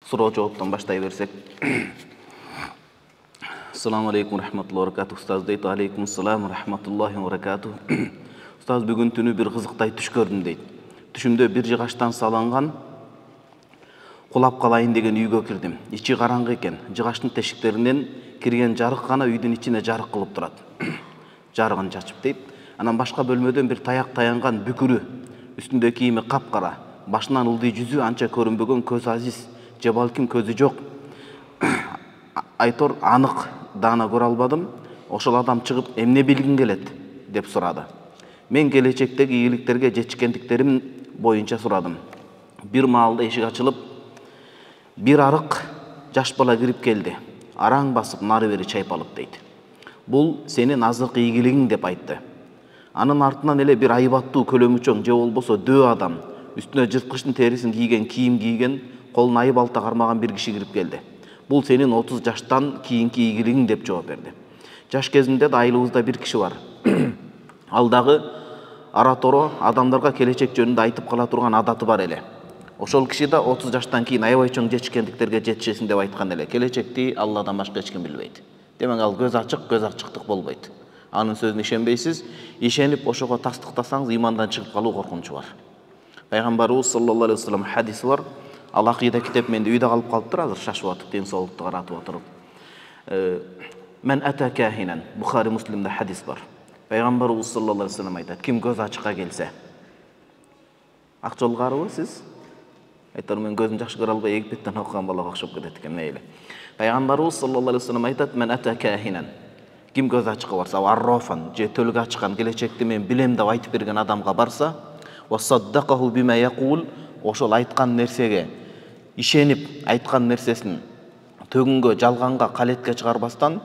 Суроо жооптон баштай берсек. Ассаламу алейкум рахматуллахи ва баракатух. Устаз дейт. Алейкум ассалам рахматуллахи ва баракатух. Устаз, бүгүн түнү бир кызыктай түш көрдүм дейт. Түшүмдө бир жыгачтан салынган кулап калайын деген үйгө кирдим. Ичи караңгы экен. Жыгачтын тешиктеринен кирген жарык гана үйдүн ичине жарык кылып турат. Жарыгын чачып дейт. Анан башка бөлмөдөн бир таяк таянган бүкүрү, үстүндө кийими капкара, башынан ылдый жүзү анча көрүнбөгөн, көз азиз же балким көзү жок. Айтор анык даана көрө албадым. Ошол адам чыгып эмне билгин келет деп сурады. Мен келечектеги ийгиликтерге жетишкендиктерим боюнча сурадым. Бир маалда эшик ачылып, бир арык жаш бала кирип келди. Араң басып нары бери чайпалып дейт. Бул сенин азыркы ийгилигиң деп айтты. Анын артынан эле бир айбаттуу көлөмүчөң же болбосо дөө адам, үстүнө жырткычтын терисин кийген, кийим кийген, колуна айып алта кармаган бир киши кирип келди. Бул сенин 30 жаштан кийинки ийгилигиң деп жооп берди. Жаш кезимде да айылыбызда бир киши бар. Ал дагы ара-торо адамдарга келечек жөнүндө айтып кала турган адаты бар эле. Ошол киши да 30 жаштан кийин аябай чоң жетишкендиктерге жетишесин деп айткан эле. Келечекти Алладан башка эч ким билбейт. Демек ал көз ачык, көз ачыктык болбойт. Анын сөзүнө ишенбейсиз, ишенип ошого тастыктасаңыз имандан чыгып калуу коркунучу бар. Пайгамбарыбыз саллаллаху алейхи вассалам хадиси бар. Ал акыйда китеп менде үйдө калып калыптыр, азыр шашып атып, ден соолукту каратып отуруп. Мен ата кахинан, Бухари Муслимде хадис бар. Пайгамбарыбыз саллаллаху алейхи вассалам айтат: ким көз ачыкка келсе. Ак жолгарбы сиз? Айтор, мен көзүм жакшы көрө албай Египеттен окуган балага окшоп кетет экен, мейли. Пайгамбарыбыз саллаллаху алейхи вассалам айтат: мен ата кахинан. Ким көз ачыкка барса, аррофан, же төлгө ачкан, келечекти мен билем деп айтып берген адамга барса, ва саддакаху бима якул, ошол айткан нерсеге ишенип, айткан нерсесин төгүнгө, жалганга, калетке чыгарбастан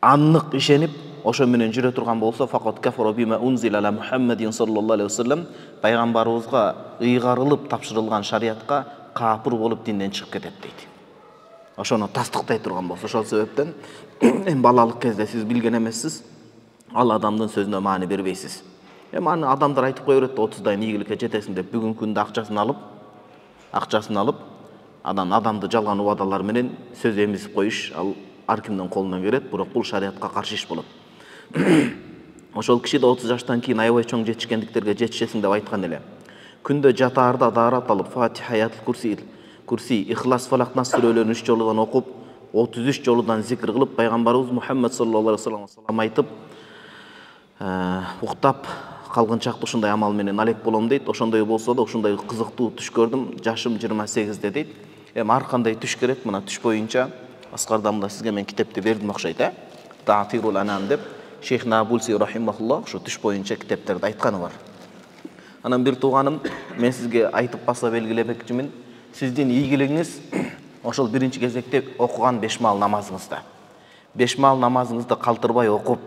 аннык ишенип, ошо менен жүрө турган болсо, факат кафара бима унзила ала Мухаммадин саллаллаху алейхи вассалам, пайгамбарыбызга ыйгарылып тапшырылган шариатка капыр болуп динден чыгып кетет дейт. Ошону тастыктай турган болсо, ошол себептен эми балалык кезде сиз билген эмессиз, ал адамдын сөзүнө маани бербейсиз. Эми аны адамдар айтып кое берет, 30дайын ийгиликке жетесиң деп, бүгүнкү күндө акчасын алып, анан адамды жалган убадалар менен сөз эмизип коюш, ал ар кимдин колунан келет, бирок бул шариатка каршы иш болот. Ошол киши да 30 жаштан кийин аябай чоң жетишкендиктерге жетишесиң деп айткан эле. Күндө жатаарда даарат алып, Фатиха, Аяtul Курси, Ихлас, Фалак, Нас сүрөлөрүн 3 жолудан окуп, 33 жолудан зикр кылып, пайгамбарыбыз Мухаммад саллаллаху алейхи вассалам айтып, уктап калгынчакты ушундай амал менен алек болом дейт. Ошондой болсо да ушундай кызыктуу түш көрдүм. Жашым 28 дейт. Эми ар кандай түш керек, мына түш боюнча аскардан да сизге мен китепти бердим окшойт, Таатирул Анам деп, Шейх Набулси рахимахуллах ушу түш боюнча китептерди айтканы бар. Анан бир тууганым, мен сизге айтып баса белгилемекчимин. Сиздин ийгилигиңиз ошол биринчи кезекте окуган 5 маал намазыңызда. 5 маал намазыңызды калтырбай окуп,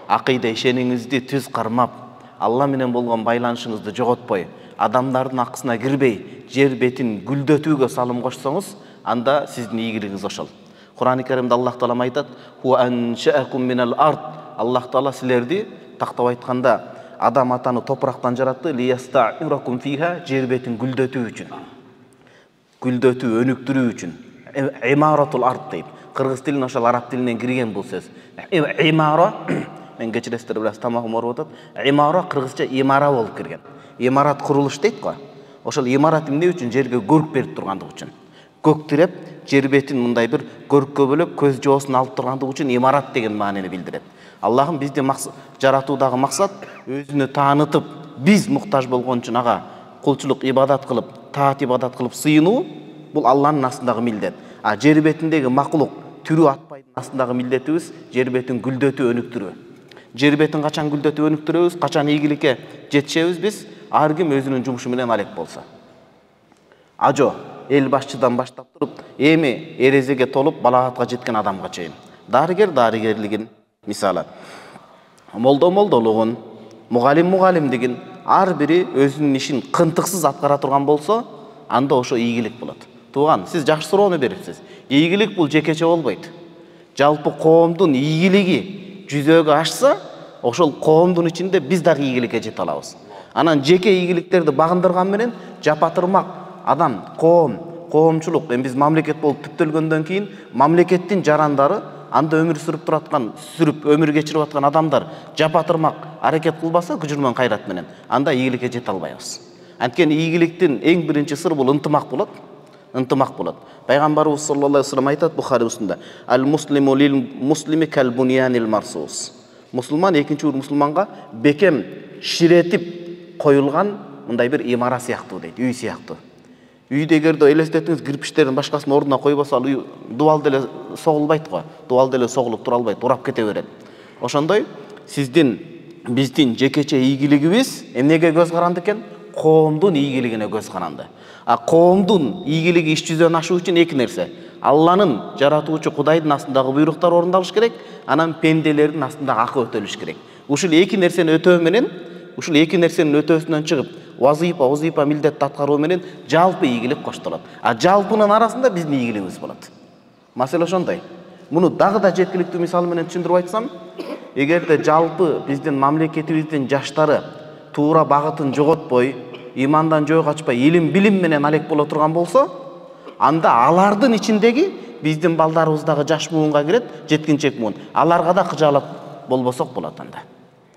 акыйда ишениңизди түз кармап, Алла менен болгон байланышыңызды жоготпой, адамдардын акысына кирбей, жер бетин гүлдөтүүгө салым кошсоңуз, анда сиздин ийгилигиңиз ошол. Кур'ан-ы Каримде Аллах Таала айтат: "Хуа аншаакум минал ард". Аллах Таала силерди тактап айтканда адам атаны топурактан жаратты, лияста'иракум фиха, жер бетин гүлдөтүү үчүн. Гүлдөтүү, өнүктүрүү үчүн. Имаратул ард дейт. Кыргыз тилин ошол араб тилинен кирген бул сөз. Имара, мен кечиресиздер бираз тамагым ооруп атат. Имара кыргызча имара болуп кирген. Имарат курулуш дейт го. Ошол имарат эмне үчүн? Жерге көрк берип тургандык үчүн. Көк тиреп, жер бетин мындай бир көрккө бөлөп, көз жоосун алып тургандык үчүн имарат деген маанини билдирет. Аллахым бизди жаратуудагы максат өзүнү таанытып, биз муктаж болгон үчүн ага кулчулук ибадат кылып, таат ибадат кылып сыйынуу, бул Алланын астындагы милдет. А жер бетиндеги макулук түрү атпайдын астындагы милдетибиз жер бетин гүлдөтүү, өнүктүрүү. Жер бетин качан гүлдөтүп өнүктүрөбүз, качан ийгиликке жетишебиз биз, ар ким өзүнүн жумушу менен алек болсо. Ажо эл башчыдан баштап туруп, эми эрезеге толуп балагатка жеткен адамга чейин. Дарыгерлигин, мисалы, молдолугун, мугалимдигин ар бири өзүнүн ишин кынтыксыз аткара турган болсо, анда ошо ийгилик болот. Тууган, сиз жакшы суроону берипсиз. Ийгилик бул жекече болбойт. Жалпы коомдун ийгилиги жүзөгө ашса, ошол коомдун ичинде биз дагы ийгиликке жете алабыз. Анан жеке ийгиликтерди багындырган менен жапатырмак адам, коом коомчулук, эми биз мамлекет болуп түптөлгөндөн кийин мамлекеттин жарандары, анда өмүр сүрүп өмүр кечирип аткан адамдар жапатырмак аракет кылбаса күчү менен кайрат менен, анда ийгиликке жете албайбыз. Анткени ийгиликтин эң биринчи сыры бул ынтымак болот. Ынтымак болот. Пайгамбарыбыз саллаллаху алейхи вассалам айтат Бухари мусулмда: "Ал-муслиму лил-муслими кал-бунянил марсус." Мусулман экинчи мусулманга бекем ширетип коюлган мындай бир имара сыяктуу дейт, үй сыяктуу. Үйдө эгерде элестетиңиз, кирпичтердин башкасын ордуна койбосо, ал үй дубал деле согулбайт го. Дубал деле согулуп тура албайт, урап кете берет. Ошондой биздин жекече ийгилигибиз эмнеге көз каранды экен? Коомдун ийгилигине көз каранды. А коомдун ийгилиги иш жүзүнөн ашуу үчүн эки нерсе: Алланын, жаратуучу Кудайдын астындагы буйруктар орундалыш керек, анан пенделердин астындагы акы өтөлүш керек. Ушул эки нерсени өтөө менен, ушул эки нерсенин өтөөсүнөн чыгып, вазифа милдетти аткаруу менен жалпы ийгилик коштолот. А жалпынын арасында биздин ийгилигибиз болот. Маселе ошондой. Муну дагы да жеткиликтүү мисал менен түшүндүрүп айтсам, эгерде жалпы биздин мамлекетибиздин жаштары туура багытын жоготпой, имандан жөө качпай, илим билим менен алек боло турган болсо, анда алардын ичиндеги биздин балдарыбыз дагы жаш муунга кирет, жеткинчек муун. Аларга да кыжаалап болбосок болот анда.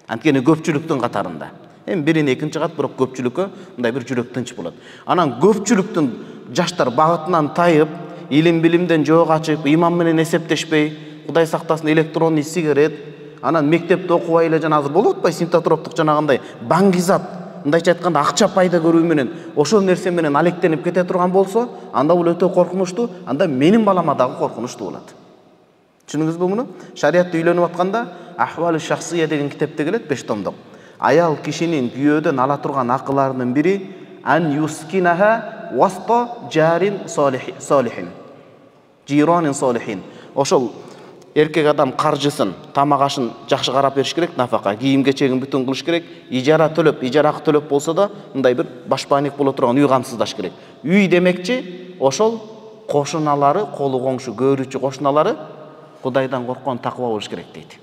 Анткени көпчүлүктүн катарында. Эми бирин экинчи кат, бирок көпчүлүккө мындай бир жүрөк тынч болот. Анан көпчүлүктүн жаштар багытынан тайып, илим билимден жөө качып, иман менен эсептешпей, Кудай сактасын, электронный сигарет, анан мектепте окубай эле жана азыр болуп атпайбы синтотроптук жанагындай баңгизат, мындайча айтканда акча пайда көрүү менен, ошол нерсе менен алектенип кете турган болсо, анда бул өтө коркунучтуу, анда менин балама дагы коркунучтуу болот. Түшүндүңүзбү муну? Шариатта үйлөнүп атканда Ахвали шахсия деген китепте келет, 5 томдук. Аял кишинин күйөөдөн ала турган акыларынын бири ан юскинаха васта жарин солихин. Жиронин солихин. Ошол эркек адам каржысын, тамак ашын жакшы карап бериш керек, нафака, кийим кечегин бүтүн кылыш керек, ижара акы төлөп болсо да, мындай бир башпаник боло турган үй камсыздаш керек. Үй демекчи ошол кошуналары, колу коңшу, көрүүчү кошуналары Кудайдан корккон, такыба болуш керек дейт.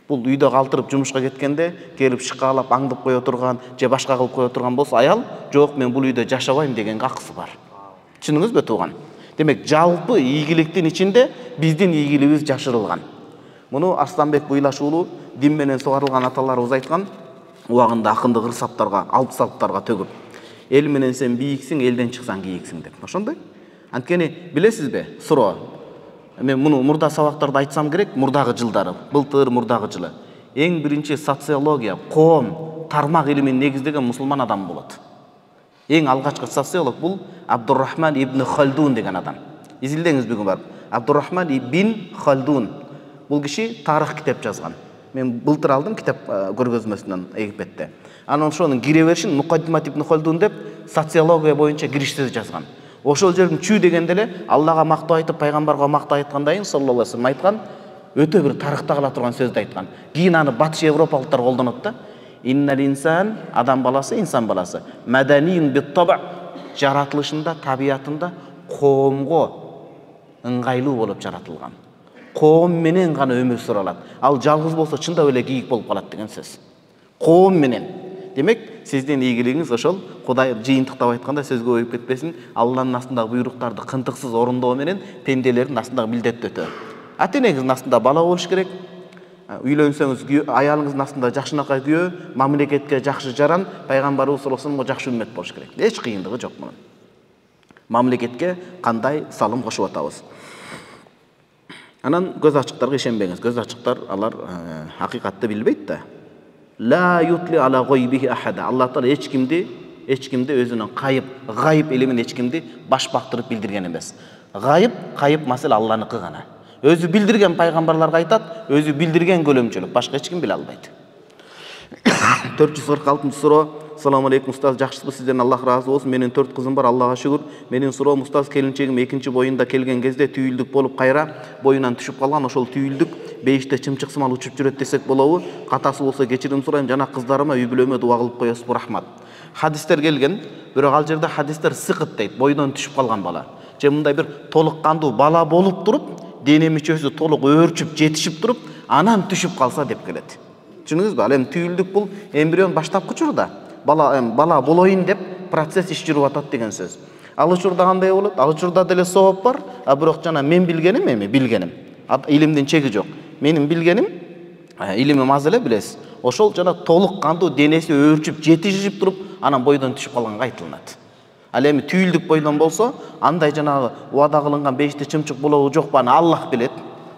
Бул үйдө калтырып жумушка кеткенде келип шыкаалап аңдып кое турган же башка кылып кое турган болсо, аял жок мен бул үйдө жашабайм дегенге акысы бар. Түшүндүңүзбү тууган? Демек жалпы ийгиликтин ичинде биздин ийгилигибиз жашырылган. Муну Арсланбек Буйлаш уулу дин менен сугарылган аталарыбыз айткан, убагында акындык ырсаптарга, алп салптарга төгүп, эл менен сен бийиксиң, элден чыксаң кийиксиң деп. Ошондой. Анткени билесизби, суроо. Мен муну мурда сабактарда айтсам керек, мурдагы жылдары, былтыр мурдагы жылы. Эң биринчи социология, коом, тармак илимин негиздеген мусулман адам болот. Эң алгачкы социолог бул Абдуррахман ибн Халдун деген адам. Изилдеңиз бүгүн барып. Абдуррахман ибн Халдун. Бул киши тарых китеп жазган. Мен былтыр алдым китеп көргөзмөсүнөн Египетте. Анан ошонун кире беришин Мукаддимат ибн Халдун деп социология боюнча кириш сөз жазган. Ошол жердин чүү дегенде эле Аллага мактоо айтып, пайгамбарга мактоо айткандан саллаллаху алейхи вассалам айткан өтө бир тарыхта кала турган сөздү айткан. Кийин аны батыш европалыктар колдонот да. Иннал инсан, адам баласы, инсан баласы. Маданин бит-таба, жаратылышында, табиятында коомго ыңгайлуу болуп жаратылган. Коом менен гана өмүр сүрө алат. Ал жалгыз болсо чындап эле кийик болуп калат деген сөз. Коом менен. Демек, сиздин ийгилигиңиз ошол Кудай жыйынтыктап айтканда сөзгө коюп кетпесин, Алланын астындагы буйруктарды кынтыксыз орундоо менен пенделердин астындагы милдетти өтөө. Ата-энеңиздин астында бала болуш керек. Үйлөнсөңүз аялыңыздын астында жакшынакай күйөө, мамлекетке жакшы жаран, пайгамбарыбыз саллаллаху алейхи вассаламга жакшы үммөт болуш керек. Эч кыйындыгы жок мунун. Мамлекетке кандай салым кошуп атабыз. Анан көз ачыктарга ишенбеңиз. Көз ачыктар алар акыйкатты билбейт да. Ла ютли ала гойбихи ахада. Аллах Таала эч кимди өзүнүн гайып илимин эч кимди баш бактырып билдирген эмес. Гайып маселе Алланыкы гана. Өзү билдирген пайгамбарларга айтат, өзү билдирген көлөмчөлүк, башка эч ким биле албайт. 446 суроо. Assalamu alaikum устаз, жакшысызбы? Сизден Аллах разы болсун. Менин 4 кызым бар, Аллага шүгүр. Менин суроом, устаз, келинчегим 2 боюнда келген кезде түйүлдүк болуп кайра боюнан түшүп калган. Ошол түйүлдүк бейиште чымчык сымал учуп жүрөт десек болобу? Катасы болсо кечирим сурайм, жана кыздарыма үй бүлөмө дуа кылып коесузбу, рахмат. Хадистер келген, бирок ал жерде хадистер сыкыт дейт, бойдон түшүп калган бала. Же мындай бир толук кандуу бала болуп туруп, дене мүчөсү толук өөрчүп, жетишип туруп, анан түшүп калса деп келет. Түшүндүңүзбү? Ал эми түйүлдүк бул эмбрион баштапкы учурда. Бала болоюн деп процесс иш жүрүп атат деген сөз. Ал учурда кандай болот? Ал учурда деле сооп бар, а бирок жана мен билгеним билгеним. Илимдин чеги жок. Менин билгеним, илимим аз эле билесиз. Ошол жана толук кандуу денеси өөрчүп, жетишип туруп, анан бойдон түшүп калганга айтылат. Ал эми түйүлдүк бойдон болсо, андай жанагы убада кылынган 5 чымчык болобу жокпу, аны Аллах билет.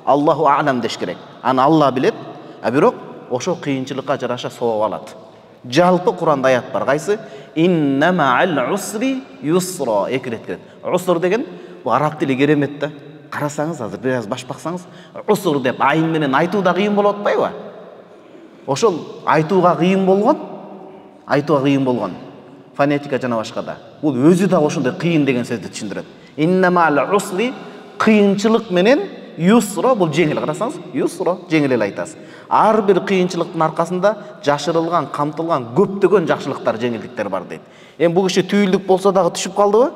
Аллаху а'лам деш керек. Аны Алла билет. А бирок ошол кыйынчылыкка жараша сооп алат. Жалпы Куранда аят бар. Кайсы? Инна ма'ал усри юсра. Эки рет келет. Уср деген бу араб тили керемет да. Карасаңыз азыр бир аз баш баксаңыз, уср деп айын менен айтуу да кыйын болуп атпайбы? Ошол айтууга кыйын болгон. Фонетика жана башка да. Бул өзү да ошондой кыйын деген сөздү түшүндүрөт. Инна ма'ал усри кыйынчылык менен юсра бул жеңил. Карасаңыз, юсра жеңил эле айтасыз. Ар бир кыйынчылыктын аркасында жашырылган, камтылган көптөгөн жакшылыктар, жеңилдиктер бар дейт. Эми бул киши түйүлдүк болсо дагы түшүп калдыбы?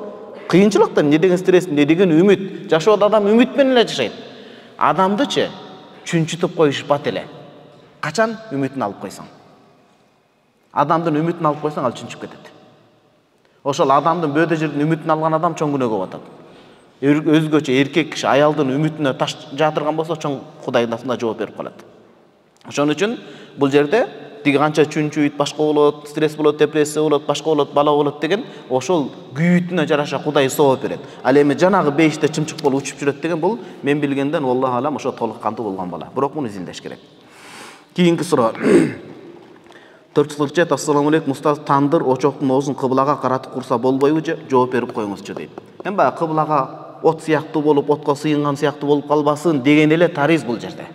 Кыйынчылыкта эмне деген стресс, эмне деген үмүт. Жашоодо адам үмүт менен эле жашайт. Адамдычы чүнчүтүп коюшпат эле. Качан үмүтүн алып койсоң? Адамдын үмүтүн алып койсоң, ал чүнчүп кетет. Ошол адамдын бөөдө жерден үмүтүн алган адам чоң күнөөгө батат. Өзгөчө эркек киши аялдын үмүтүнө таш жатырган болсо, чоң Кудайдын алдында жооп берип калат. Ошон үчүн бул жерде тиги канча чүнчүйт, башка болот, стресс болот, депрессия болот, башка болот, бала болот деген ошол күйүтүнө жараша Кудай сооп берет. Ал эми жанагы 5 чымчык болуп учуп жүрөт деген бул мен билгенден Аллах алам ошо толук кандуу болгон бала. Бирок муну изилдеш керек. Кийинки суроо. 447. Ассаламу алейкум устаз, тандыр очоктун оозун кыблага каратып курса болбойбу же? Жооп берип коюңузчу дейт. Эми баягы кыблага от сыяктуу болуп, отко сыйынган сыяктуу болуп калбасын деген эле тариз бул жерде.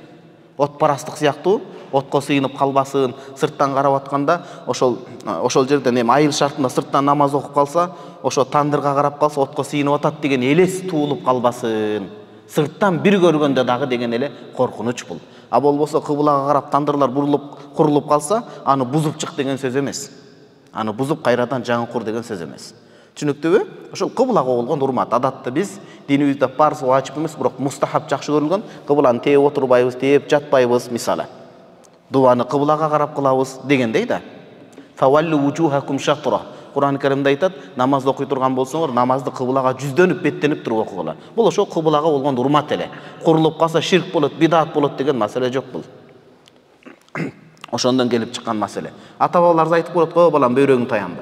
Отпарастык сыяктуу отко сыйынып калбасын, сырттан карап атканда ошол жерден эми айыл шартында сырттан намаз окуп калса, ошо тандырга карап калса отко сыйынып атат деген элес туулуп калбасын. Сырттан бир көргөндө дагы деген эле коркунуч бул. А болбосо кыблага карап тандырлар курулуп калса, аны бузуп чык деген сөз эмес. Аны бузуп кайрадан жаңы кур деген сөз эмес. Түшүнүктүүбү? Ошол кыблага болгон урмат. Адатта биз динибизде парз вачип эмес, бирок мустахаб жакшы көрүлгөн. Кыбланы тээп отурбайбыз, тээп жатпайбыз, мисалы. Дуаны кыблага карап кылабыз дегендей да. Фаваллу вужухакум шатра. Кур'ан Каримде айтат, намаз окуй турган болсоңор, намазды кыблага жүздөнүп, беттенип туруп окугула. Бул ошол кыблага болгон урмат эле. Курулуп калса ширк болот, бидат болот деген маселе жок бул. Ошондон келип чыккан маселе. Ата-бабаларыбыз айтып коет, "О балам, бөйрөгүң таянбы."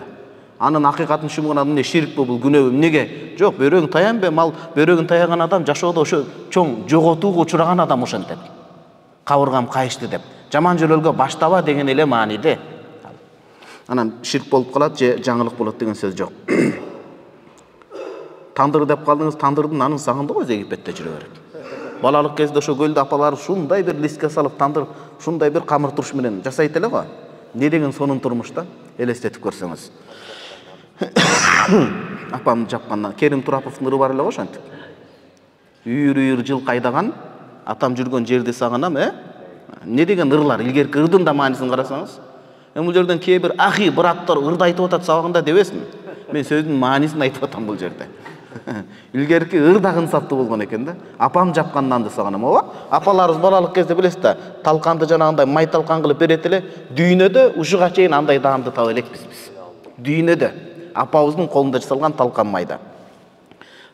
Анын акыйкатын түшүнгөн адам эмне ширкпи бул, күнөөбү? Эмнеге? Жок, бөйрөгүң таянбы, мал бөйрөгүн таяган адам жашоодо ошо чоң жоготууга учураган адам ошентет. Кабыргам кайышты деп. Жаман жолөлгө баштаба деген эле мааниде. Анан ширк болуп калат же жаңылык болот деген сөз жок. Тандыр деп калдыңыз, тандырдын анын сагындыгы өзү Египетте жүрө берет. Балалык кезде ошо көлдө апалар ушундай бир лиске салып тандыр, ушундай бир камыр туруш менен жасайт эле го. Не деген сонун турмушта элестетип көрсөңүз. Апам жапкандан Керим Тураповдун ыры бар эле го ошентип. Үйүр жыл кайдаган, атам жүргөн жерди сагынам, Не деген ырлар, илгерки ырдын да маанисин карасаңыз. Бул жерден кээ бир ахи браттар ырды айтып атат сабагында дебесин. Мен сөздүн маанисин айтып атам бул жерде. Илгерки ыр да ынсаптуу болгон экен да. Апам жапканданды сагынам, ооба. Апаларыбыз балалык кезде билесиз да, талканды жанагындай май талкан кылып берет эле. Дүйнөдө ушуга чейин андай даамды таба элекпиз биз. Дүйнөдө апабыздын колунда жасалган талкан майда.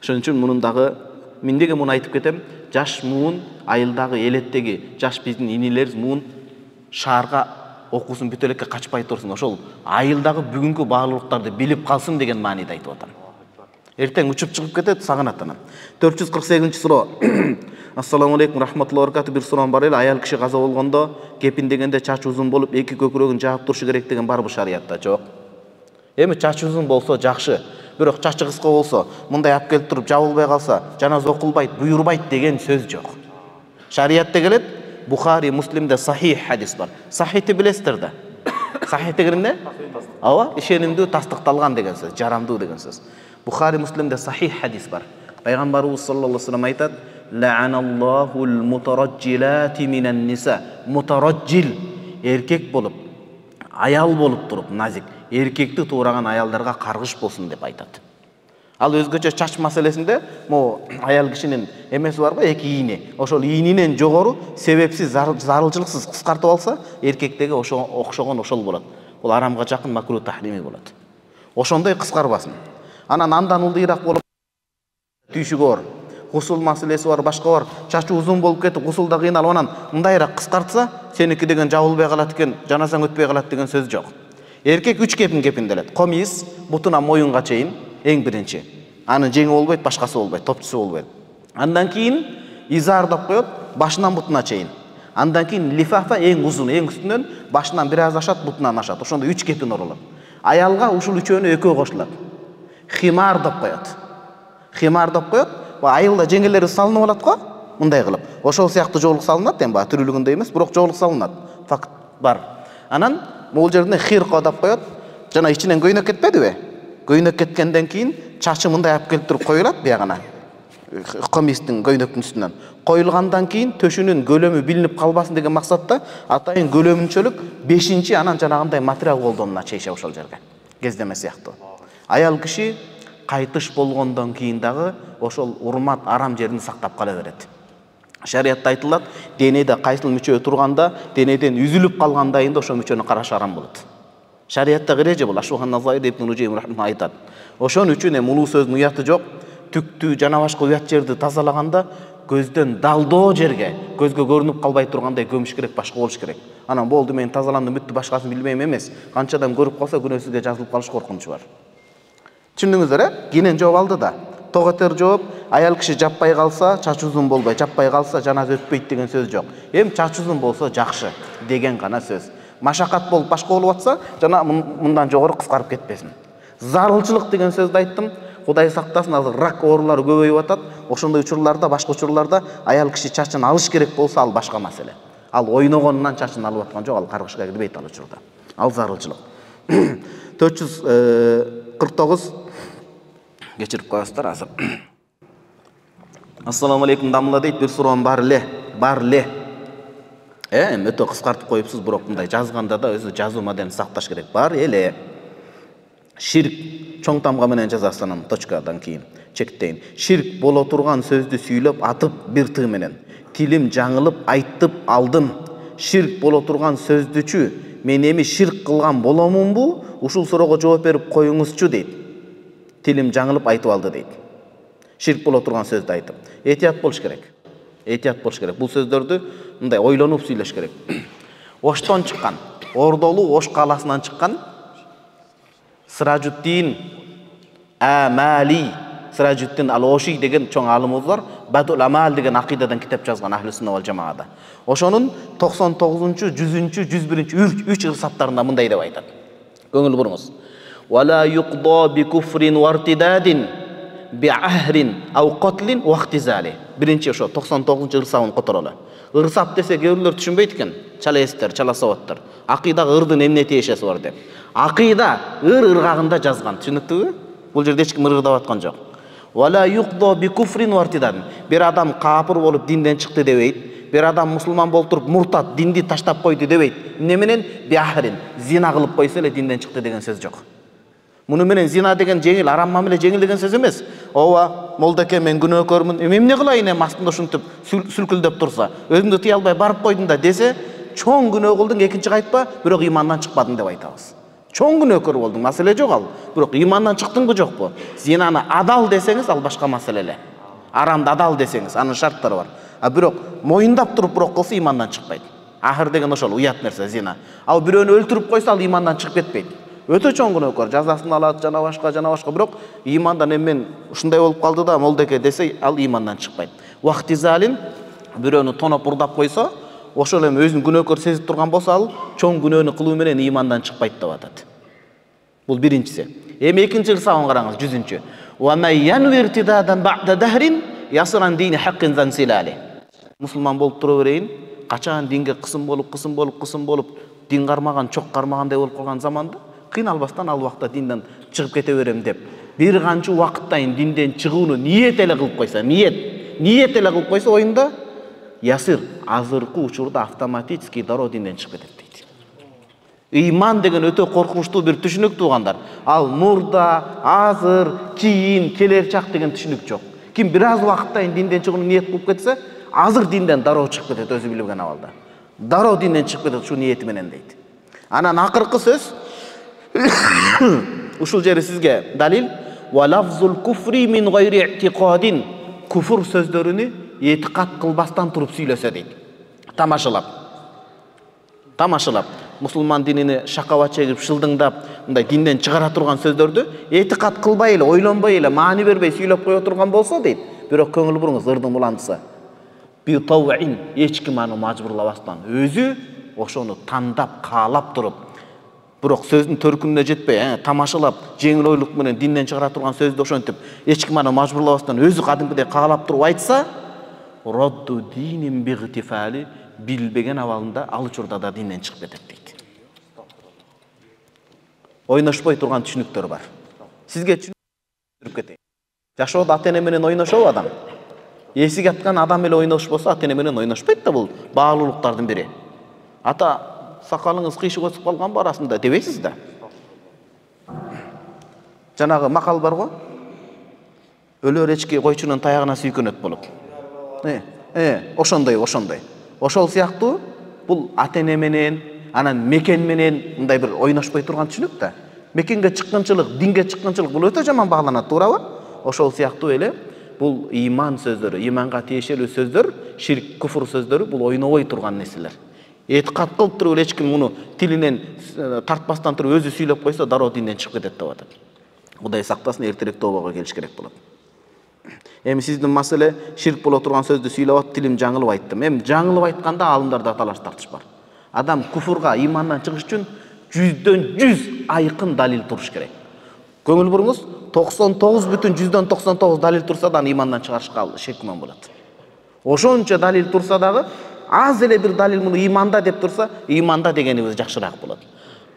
Ошон үчүн мунун дагы мен деге муну айтып кетем. Жаш муун айылдагы элеттеги жаш биздин инилерибиз муун шаарга окуусун бүтө элекке качпай турсун. Ошол айылдагы бүгүнкү баалуулуктарды билип калсын деген мааниде айтып атам. Эртең учуп чыгып кетет, сагынат анан. 448-чи суроо. Ассаламу алейкум рахматуллахи ва баракату. Бир суроом бар эле. Аял киши каза болгондо кепиндегенде чач узун болуп, эки көкүрөгүн жаап турушу керек деген барбы шариятта? Жок. Эми чач узун болсо жакшы. Бирок чачы кыска болсо, мындай алып келип туруп жабылбай калса, жаназа окулбайт, буйрубайт деген сөз жок. Шариятта келет, Бухари, Муслимде сахих хадис бар. Сахихти билесиздер да. Сахих деген эмне? Ооба, ишенимдүү, тастыкталган деген сөз, жарамдуу деген сөз. Бухари, Муслимде сахих хадис бар. Пайгамбарыбыз саллаллаху алейхи ва саллям айтат: "Ла'аналлахул мутараджилати минан ниса." Мутараджил эркек болуп, аял болуп туруп, назик эркекти туураган аялдарга каргыш болсун деп айтат. Ал өзгөчө чач маселесинде мо аял кишинин эмеси барбы, эки ийни. Ошол ийнинен жогору себепсиз, зарылчылыксыз кыскартып алса, эркектеги окшогон ошол болот. Бул арамга жакын макруh тахрими болот. Ошондой кыскарбасын. Анан андан ылдыйраак болуп түйшүгү бар, гусул маселеси бар, башка бар. Чачы узун болуп кетип, гусулда кыйналып анан мындайраак кыскартса, сеники деген жабылбай калат экен, жанасаң өтпөй калат деген сөз жок. Эркек 3 кепин кепинделет. Комиз бутунан моюнга чейин эң биринчи. Анын жеңи болбойт, башкасы болбойт, топчусу болбойт. Андан кийин изар деп коет, башынан бутуна чейин. Андан кийин лифафа эң узун, эң үстүнөн башынан бир аз ашат, бутунан ашат. Ошондо 3 кепин оролот. Аялга ушул үчөөнү экөө кошулат. Химар деп коет. Химар деп коет. Айылда жеңелери салынып алат го, мындай кылып. Ошол сыяктуу жоолук салынат, эми баа түрүлүгүндө эмес, бирок жоолук салынат. Факт бар. Анан могул жерине хирко деп коет. Жана ичинен көйнөк кетпедиби? Көйнөк кеткенден кийин чачы мындай алып келип туруп коюлат биягына. Комистин көйнөктүн үстүнөн коюлгандан кийин төшүнүн көлөмү билинип калбасын деген максатта атайын көлөмүнчөлүк 5-чи анан жанагындай материал колдонуна чейишет ошол жерге. Кездеме сыяктуу. Аял киши кайтыш болгондон кийин дагы ошол урмат арам жерин сактап кала берет. Шариатта айтылат, денеде кайсыл мүчө турганда, денеден үзүлүп калгандайында ошол мүчөнү караш арам болот. Шариатта эреже бул. Ашухан Назаир ибн Нужейм рахматуллах айтат. Ошон үчүн улуу сөздүн уяты жок. Түктү жана башка уят жерди тазалаганда көздөн далдоо жерге, көзгө көрүнүп калбай тургандай көмүш керек, башка болуш керек. Анан болду, мен тазаландым, бүттү, башкасын билбейм эмес. Канча адам көрүп калса күнөөсүзгө жазылып калыш коркунучу бар. Түшүндүңүздөр, Кийинен жооп алды да. Тоготер жооп, аял киши жаппай калса, чач узун болбой, жаппай калса жаназа өтпөйт деген сөз жок. Эми чач узун болсо жакшы деген гана сөз. Машакат болуп башка болуп атса, жана мындан жогору кыскарып кетпесин. Зарылчылык деген сөздү айттым. Кудай сактасын, азыр рак оорулары көбөйүп атат. Ошондой учурларда, башка учурларда аял киши чачын алыш керек болсо, ал башка маселе. Ал ойногонунан чачын алып аткан жок, ал каргышка кирбейт ал учурда. Ал зарылчылык. 449 кечирип коесуздар азыр. Ассаламу алейкум дамла дейт, бир суроом бар эле. Эми өтө кыскартып коюпсуз, бирок мындай жазганда да өзү жазуу маданияты сакташ керек. Бар эле. Ширк чоң тамга менен жазасынын точкадан кийин чектейин. Ширк боло турган сөздү сүйлөп атып бир тыы менен. Тилим жаңылып айтып алдым. Ширк боло турган сөздүчү мен эми ширк кылган боломунбу? Ушул суроого жооп берип коюңузчу дейт. Тилим жаңылып айтып алды дейт. Ширк боло турган сөздү айтып. Этият болуш керек. Бул сөздөрдү мындай ойлонуп сүйлөш керек. Оштон чыккан, Ордолу Ош калаасынан чыккан Сыражуддин Амали, Сыражуддин Ал-Оши деген чоң алымыбыз бар. Бадул Амал деген акыйдадан китеп жазган Ахли сунна вал жамаада. Ошонун 99-100-чү, 101-чү 3 ырсаттарында мындай деп айтат. Көңүл буруңуз. Вала юqda bi kufrin wartidadin bi ahrin aw qatlin wa ihtizali. Биринчи ошо 99-чы ырсабын которолу. Ырсап десе кээрлөр түшүнбөйт экен. Чалаэстер, чаласаваттар. Акыйдагы ырдын эмне тиешеси бар деп. Акыйда ыргагында жазган. Түшүнүктүбү? Бул жерде эч ким ырдап аткан жок. Вала юqda bi kufrin wartidadin. Бир адам капыр болуп динден чыкты дебейт. Бир адам мусулман болуп туруп муртат, динди таштап койду дебейт. Эмне менен? Би ахрин. Зина кылып койсо эле динден чыкты деген сөз жок. Муну менен зина деген жеңил, арам мамиле жеңил деген сөз эмес. Ооба, молдеке мен күнөөкөрмүн. Эмне кылайын эми астында ушинтип сүлкүлдөп турса, өзүмдү тыя албай барып койдум да десе, чоң күнөө кылдың, экинчи кайтпа, бирок имандан чыкпадың деп айтабыз. Чоң күнөөкөр болдуң, маселе жок ал. Бирок имандан чыктыңбы жокпу? Зинаны адал десеңиз, ал башка маселе эле. Арамды адал десеңиз, анын шарттары бар. А бирок моюндап туруп бирок кылса имандан чыкпайт. Ахыр деген ошол уят нерсе зина. Ал бирөөнү өлтүрүп койсо, ал имандан чыгып кетпейт. Өтө чоң күнөөкөр, жазасын алат, жана башка, бирок имандан эмен ушундай болуп калды да, молдеке десе, ал имандан чыкпайт. Вахтизалин бирөөнү тоноп урдап койсо, ошол эми өзүн күнөөкөр сезип турган болсо, ал чоң күнөөнү кылуу менен имандан чыкпайт деп атат. Бул биринчиси. Эми экинчи ырсабын караңыз, 100-чү. Ва майянвиртидадан бa'da dahrin yasran dini haqqin zansilali. Мусулман болуп тура берейин, качан динге кысым болуп, дин кармаган, чок кармагандай болуп калган заманда кыйналбастан ал убакта динден чыгып кете берем деп, бир канча убакыттайын динден чыгууну ниет эле кылып койсо, ниет эле кылып койсо оюнда, ясир азыркы учурда автоматически дароо динден чыгып кетет дейт. Ыйман деген өтө коркунучтуу бир түшүнүк туугандар. Ал мурда, азыр, кийин, келер чак деген түшүнүк жок. Ким бир аз убакыттайын динден чыгууну ниет кылып кетсе, азыр динден дароо чыгып кетет, өзү билген абалда. Дароо динден чыгып кетет ушу ниети менен дейт. Анан акыркы сөз ушул жери сизге далил. Ва лафзул куфри мин гайри i'tiqadin. Куфр сөздөрүнү этикат кылбастан туруп сүйлөсө дейт. Тамашалап, мусулман динини шакаба чегип, шылдыңдап, мындай динден чыгара турган сөздөрдү этикат кылбай эле, ойлонбой эле, маани бербей сүйлөп кое турган болсо дейт. Бирок көңүл буруңуз, ырдын буландысы. Би тавин, эч ким аны мажбурлабастан, өзү ошону тандап, каалап туруп, бирок сөздүн төркүнүнө жетпей, тамашалап, жеңил ойлук менен динден чыгара турган сөздү ошентип, эч ким аны мажбурлабастан өзү кадимкидей каалап туруп айтса, родду динин бигтифали, билбеген абалында ал учурда да динден чыгып кетет дейт. Ойношпой турган түшүнүктөр бар. Сизге түшүндүрүп кетейин. Жашоодо ата-эне менен ойношобу адам? Эсик аткан адам эле ойношпосо, ата-эне менен ойношпойт да, бул баалуулуктардын бири. Ата, сакалыңыз кыйшык өсүп калганбы арасында дебейсиз да. Жанагы макал бар го. Өлөр эчки койчунун таягына сүйкөнөт болуп. Ошондой. Ошол сыяктуу бул ата-эне менен, анан мекен менен мындай бир ойношпой турган түшүнүк да. Мекенге чыккынчылык, динге чыккынчылык бул өтө жаман бааланат, туурабы? Ошол сыяктуу эле бул иман сөздөрү, иманга тиешелүү сөздөр, ширк, куфр сөздөрү бул ойнобой турган нерселер. Этикат кылып туруп эч ким муну тилинен тартпастан туруп өзү сүйлөп койсо, дароо динден чыгып кетет деп атат. Кудай сактасын, эртерээк тообага келиш керек болот. Эми сиздин маселе ширк боло турган сөздү сүйлөп атып, тилим жаңылып айттым. Эми жаңылып айтканда алымдарда талаш тартыш бар. Адам куфурга, имандан чыгыш үчүн 100 айкын далил туруш керек. Көңүл буруңуз, 99,99 далил турса да имандан чыгарышка шек күмөн болот. Ошончо далил турса дагы аз эле бир далил муну иманда деп турса, иманда дегенибиз жакшыраак болот.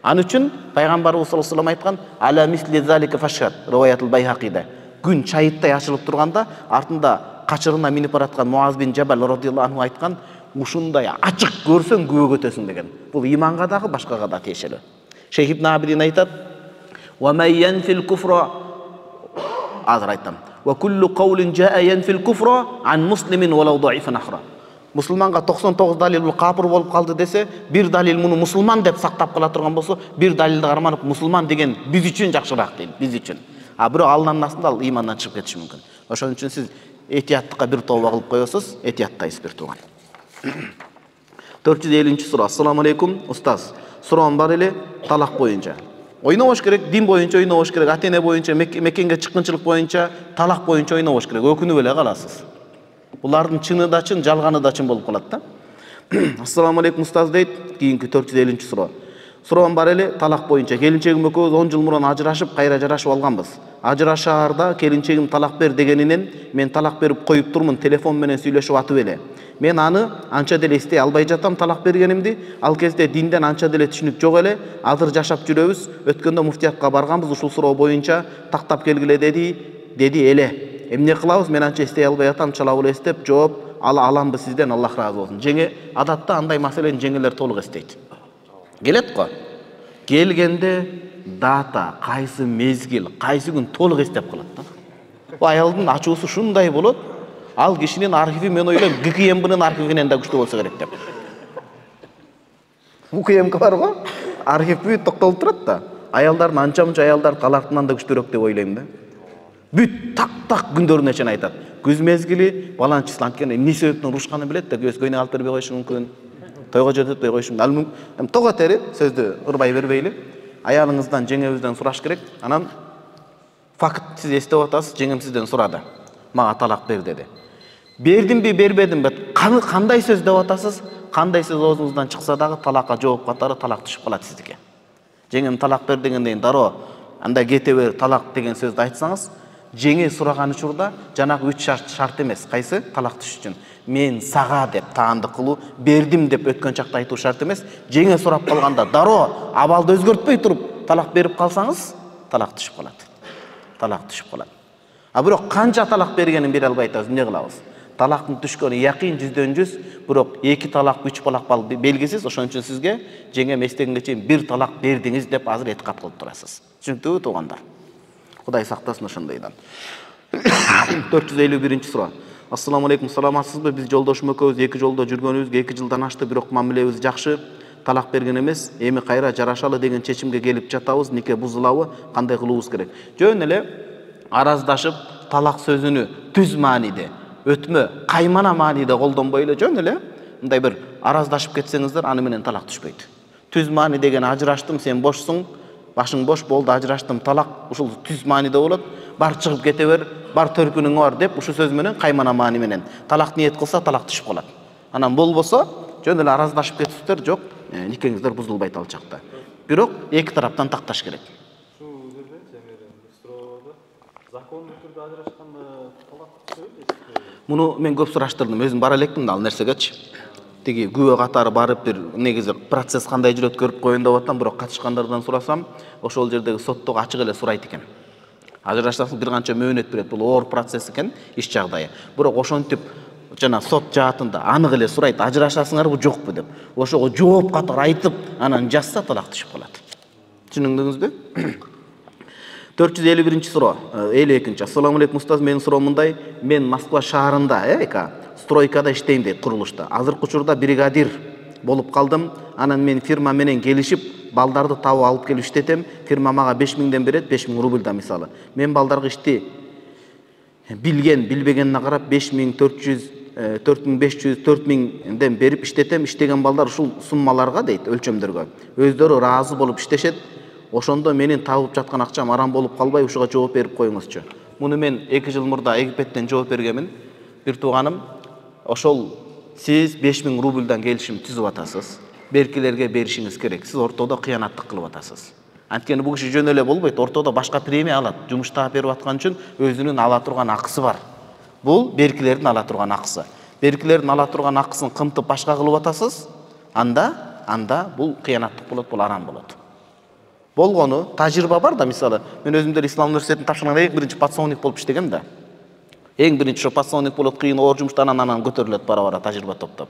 Аны үчүн пайгамбарыбыз саллаллаху алейхи айткан: "Ала мисли залика фашхад", риваятул Байхакида. Күн чайыттай ачылып турганда, артында качырына минип бараткан Муаз бин Жабал радыйаллаху анху айткан: "Ушундай ачык көрсөң күбөгө өтөсүң" деген. Бул иманга дагы, башкага да тиешелүү. Шейх ибн Абидин айтат: "Ва май янфил куфра", азыр айтам. "Ва куллу каулин жаа янфил куфра ан муслимин валау даифан ахра". Мусулманга 99 далил бул капыр болуп калды десе, бир далил муну мусулман деп сактап кала турган болсо, бир далилди карманып мусулман деген биз үчүн жакшыраак дейт, биз үчүн. Бирок алнын астында ал имандан чыгып кетиши мүмкүн. Ошон үчүн сиз этияттыкка бир тооба кылып коесуз, этияттайсыз бир тууган. 450-суроо. Ассаламу алейкум, устаз. Суроом бар эле талак боюнча. Ойнобош керек, дин боюнча ойнобош керек, ата-эне боюнча, мекенге чыккынчылык боюнча, талак боюнча ойнобош керек. Өкүнүп эле каласыз. Булардын чыны да чын, жалганы да чын болуп калат да. Ассаламу алейкум, устаз дейт. Кийинки 450-суроо. Суроом бар эле талак боюнча. Келинчегим экөөбүз 10 жыл мурун ажырашып, кайра жарашып алганбыз. Ажырашаарда келинчегим талак бер дегенинен мен талак берип коюп турмун, телефон менен сүйлөшүп атып эле. Мен аны анча деле эстей албай жатам талак бергенимди. Ал кезде динден анча деле түшүнүк жок эле. Азыр жашап жүрөбүз. Өткөндө муфтиятка барганбыз, ушул суроо боюнча тактап келгиле деди эле. Эмне кылабыз? Мен анча эстей албай атам, чалабыл эстеп жооп аламбыз сизден, Аллах ыраазы болсун. Жеңе адатта андай маселени жеңелер толук эстейт. Келет го. Келгенде дата, кайсы мезгил, кайсы күн толук эстеп калат да. Бу аялдын ачуусу шундай болот. Ал кишинин архиви, мен ойлойм, ГКМБнын архивинен да күчтүү болсо керек деп. ГКМБ бар го? Архив бүт токтолуп турат да. Аялдардын анча-мунча аялдар талактынан да күчтүүрөөк деп ойлойм да. Бүт так күндөрүнө чейин айтат. Күз мезгили, баланчы число анткени эмне себептен урушканын билет да, көйнөк алып бербей коюшу мүмкүн. Тойго жететпей коюшу мүмкүн. Эми тога терип, сөздү ырбай бербейли. Аялыңыздан, жеңебизден сураш керек. Анан факт сиз эстеп атасыз, жеңем сизден сурады. Мага талак бер деди. Бердимби, бербедимби? Кандай сөз деп атасыз? Кандай сөз оозуңуздан чыкса дагы талакка жооп катары талак түшүп калат сиздике. Жеңем талак бер дегенден дароо андай кете бер талак деген сөздү айтсаңыз, жеңе сураган учурда жанагы 3 шарт эмес. Кайсы? Талак түшүш үчүн. Мен сага деп таандык кылуу, бердим деп өткөн чакта айтуу шарт эмес. Жеңе сурап калганда дароо абалды өзгөртпөй туруп талак берип калсаңыз, талак түшүп калат. Талак түшүп калат. Бирок канча талак бергенин бере албай атабыз, эмне кылабыз? Талактын түшкөнү якын 100/100, бирок 2 талак, 3 талак белгисиз. Ошон үчүн сизге жеңем эстегенге чейин 1 талак бердиңиз деп азыр этикат кылып турасыз. Түшүнүктүүбү туугандар? Кудай сактасын ошондойдон. 451-суроо. Ассаламу алейкум, саламатсызбы? Биз жолдошум экөөбүз 2 жолдо жүргөнүбүзгө 2 жылдан ашты, бирок мамилебиз жакшы. Талак берген эмес. Эми кайра жарашалы деген чечимге келип жатабыз. Нике бузулабы? Кандай кылуубуз керек? Жөн эле араздашып талак сөзүнү түз мааниде, өтмө, каймана мааниде колдонбой эле жөн эле мындай бир араздашып кетсеңиздер, аны менен талак түшпөйт. Түз маани деген ажыраштым, сен бошсуң, башың бош болду, ажыраштым, талак, ушул түз мааниде болот. Бар чыгып кете бер, бар төркүнүң бар деп ушул сөз менен каймана маани менен талак ниет кылса талак түшүп калат. Анан болбосо жөн эле араздашып кетиптер, жок, никеңиздер бузулбайт ал чакта. Бирок эки тараптан такташ керек. Ушул жерде строада закондуу түрдө ажырашканда талак түшөбү? Муну мен көп сураштырдым, өзүм бара электим да ал нерсегечи. Тиги күбө катары барып бир негизи процесс кандай жүрөт көрүп коеюн деп атам, бирок катышкандардан сурасам, ошол жердеги соттогу ачык эле сурайт экен. Ажырашасың бир канча мөөнөт берет, бул оор процесс экен, иш жагдайы. Бирок ошентип жана сот жаатында анык эле сурайт, ажырашасыңарбы жокпу деп. Ошого жооп катары айтып, анан жазса талак түшүп калат. Түшүндүңүзбү? 451 суроо, 52. Ассаламу алейкум устаз, менин суроом мындай. Мен Москва шаарында, стройкада иштейм дейт, курулушта. Азыркы учурда бригадир болуп калдым. Анан мен фирма менен келишип, балдарды табып алып келип иштетем. Фирма мага 5000ден берет, 5000 рубльдан мисалы. Мен балдарга ишти билбегенине карап 5400, 4500, 4000ден берип иштетем. Иштеген балдар ушул суммаларга дейт, өлчөмдөргө өздөрү ыраазы болуп иштешет. Ошондо менин табып жаткан акчам арам болуп калбай, ушуга жооп берип коюңузчу. Муну мен 2 жыл мурда Египеттен жооп бергенмин. Бир тууганым, ошол сиз 5000 рубльдан келишим түзүп атасыз. Беркилерге беришиңиз керек. Сиз ортодо кыянаттык кылып атасыз. Анткени бул киши жөн эле болбойт, ортодо башка премия алат. Жумуш таап берип аткан үчүн өзүнүн ала турган акысы бар. Бул беркилердин ала турган акысы. Беркилердин ала турган акысын кымтып башка кылып атасыз, анда бул кыянаттык болот, бул арам болот. Болгону тажрыйба бар да, мисалы, мен өзүм деле Ислам университетин тапшырганда эң биринчи подсолнук болуп иштегем да. Эң биринчи ошо подсолнук болот, кыйын оор жумуштан анан көтөрүлөт бара-бара тажрыйба топтоп.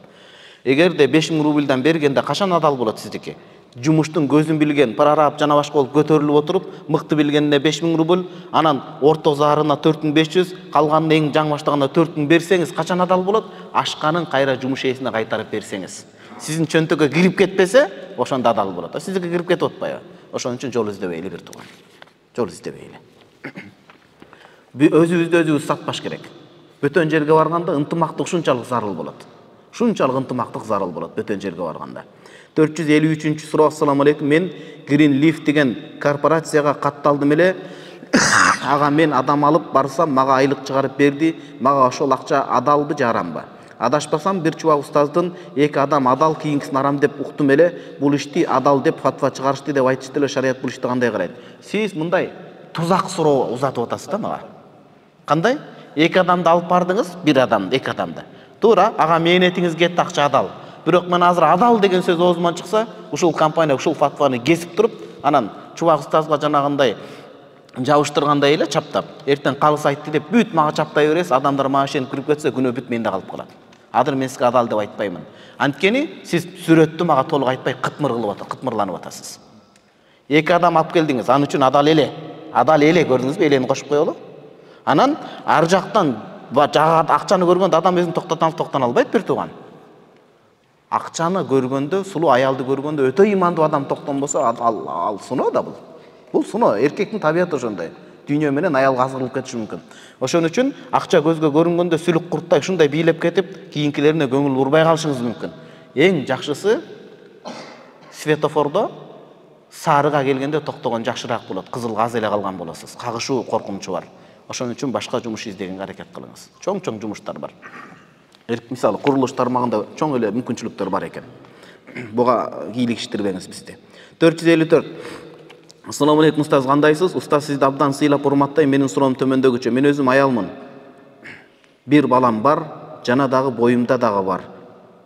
Эгерде 5000 рубльдан бергенде качан адал болот сиздики? Жумуштун көзүн билген, прораб жана башка болуп көтөрүлүп отуруп, мыкты билгенде 5000 рубль, анан орто зарына 4500, калганын эң жаңы баштаганда 4000 берсеңиз качан адал болот? Ашканын кайра жумуш ээсине кайтарып берсеңиз. Сиздин чөнтөккө кирип кетпесе, ошондо адал болот. Сиздики кирип кетип атпайбы? Ошон үчүн жол издебейли бир тууган. Жол издебейли. Өзүбүздү өзүбүз сатпаш керек. Бөтөн жерге барганда ынтымактык ушунчалык зарыл болот. Ушунчалык ынтымактык зарыл болот бөтөн жерге барганда. 453 суроо. Ассаламу алейкум. Мен Green Leaf деген корпорацияга катталдым эле. Ага мен адам алып барсам, мага айлык чыгарып берди. Мага ошол акча адалбы же арамбы? Адашпасам бир чубак устаздын эки адам адал, кийинкисин арам деп уктум эле. Бул ишти адал деп фатва чыгарышты деп айтышты эле. Шарият бул ишти кандай карайт? Сиз мындай тузак суроо узатып атасыз да мага. Кандай? Эки адамды алып бардыңыз, бир адамды, эки адамды. Туура, ага мээнетиңиз кетти, акча адал. Бирок мен азыр адал деген сөз оозуман чыкса, ушул компания ушул фатваны кесип туруп, анан чубак устазга жанагындай жабыштыргандай эле чаптап, эртең калыс айтты деп бүт мага чаптай бересиз, адамдар мага ишенип кирип кетсе, күнөө бүт менде калып калат. Азыр мен сизге адал деп айтпаймын. Анткени сиз сүрөттү мага толук айтпай кытмырланып атасыз. Эки адам алып келдиңиз, ан үчүн адал эле көрдүңүзбү? Элени кошуп коелу. Анан ар жактан акчаны көргөндө адам өзүн токтоно албайт бир тууган. Акчаны көргөндө, сулуу аялды көргөндө өтө имандуу адам токтонбосо, ал суноо да бул. Бул суноо, эркектин табияты ошондой. Дүйнө менен аялга азгырылып кетиши мүмкүн. Ошон үчүн акча көзгө көрүнгөндө сүлүк курттай ушундай бийлеп кетип, кийинкилерине көңүл бурбай калышыңыз мүмкүн. Эң жакшысы светофордо сарыга келгенде токтогон жакшыраак болот. Кызылга аз эле калган болосуз. Кагышуу коркунучу бар. Ошон үчүн башка жумуш издегенге аракет кылыңыз. Чоң жумуштар бар. Мисалы, курулуш тармагында чоң эле мүмкүнчүлүктөр бар экен. Буга кийлигиштирбеңиз бизди. 454. Ассаламу алейкум устаз, кандайсыз? Устаз, сизди абдан сыйлап урматтайм. Менин суроом төмөндөгүчө. Мен өзүм аялмын. Бир балам бар, жана дагы боюмда дагы бар.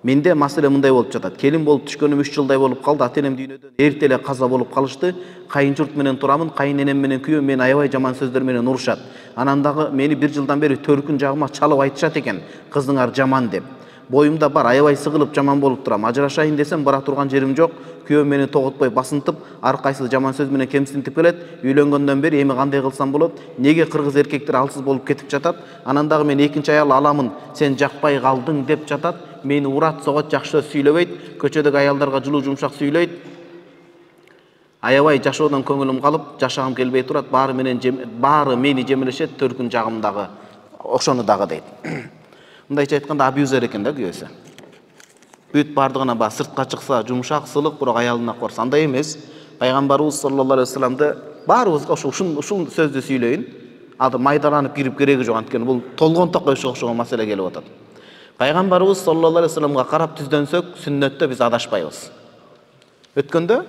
Менде маселе мындай болуп жатат. Келин болуп түшкөнүм 3 жылдай болуп калды. Ата-энем дүйнөдөн эрте эле каза болуп калышты. Кайын журт менен турамын. Кайын менен күйөөм мени аябай жаман сөздөр менен урушат. Анан дагы мени 1 жылдан бери төркүн жагыма чалып айтышат экен. Кызыңар жаман деп. Боюмда бар, аябай сыгылып жаман болуп турам. Ажырашайын десем бара турган жерим жок. Күйөөм мени тоготпой басынтып, ар кайсы жаман сөз менен кемсинтип келет. Үйлөнгөндөн бери эми кандай кылсам болот? Неге кыргыз эркектер алсыз болуп кетип жатат? Анан дагы мен экинчи аял аламын. Сен жакпай калдың деп жатат. Мени урат, согот, жакшы сөз сүйлөбөйт. Көчөдөгү аялдарга жылуу жумшак сүйлөйт. Аябай жашоодон көңүлүм калып, жашагым келбей турат, баары мени жемелешет, төркүн жагымдагы ошону дагы дейт. Мындайча айтканда абьюзер экен да күйөөсү. Бүт бардыгына ба сыртка чыкса жумшак, сылык, бирок аялына корса андай эмес. Пайгамбарыбыз саллаллаху алейхи вассаламды баарыбызга ушул сөздү сүйлөйүн. Ады майдаланып кирип кереги жок, анткени бул толгонто коюшка окшогон маселе келип атат. Пайгамбарыбыз саллаллаху алейхи вассаламга карап түздөнсөк, сүннөттө биз адашпайбыз. Өткөндө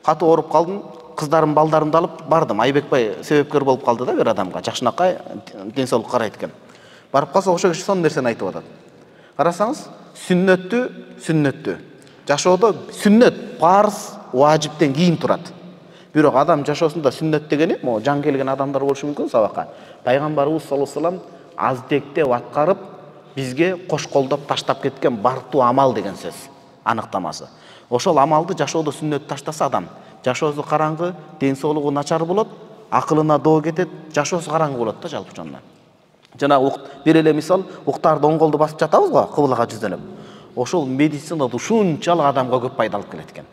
катуу ооруп калдым, кыздарым, балдарымды алып бардым. Айбекбай себепкер болуп калды да бир адамга. Жакшынакай ден соолук карайт экен. Барып калса ошол киши сонун нерсени айтып атат. Карасаңыз, сүннөттү. Жашоодо сүннөт парыз, важиптен кийин турат. Бирок адам жашоосунда сүннөт дегени, могу жан келген адамдар болушу мүмкүн сабакка. Пайгамбарыбыз саллаллаху алейхи вассалам аздектеп аткарып, бизге кош колдоп таштап кеткен бартуу амал деген сөз аныктамасы. Ошол амалды жашоодо сүннөт таштаса адам жашоосу караңгы, ден соолугу начар болот, акылына доо кетет, жашоосу караңгы болот да жалпы жонунан. Жана бир эле мисал, уктарды оң колду басып жатабыз го, кыблага жүздөнүп. Ошол медицинада ушунчалык адамга көп пайда алып келет экен.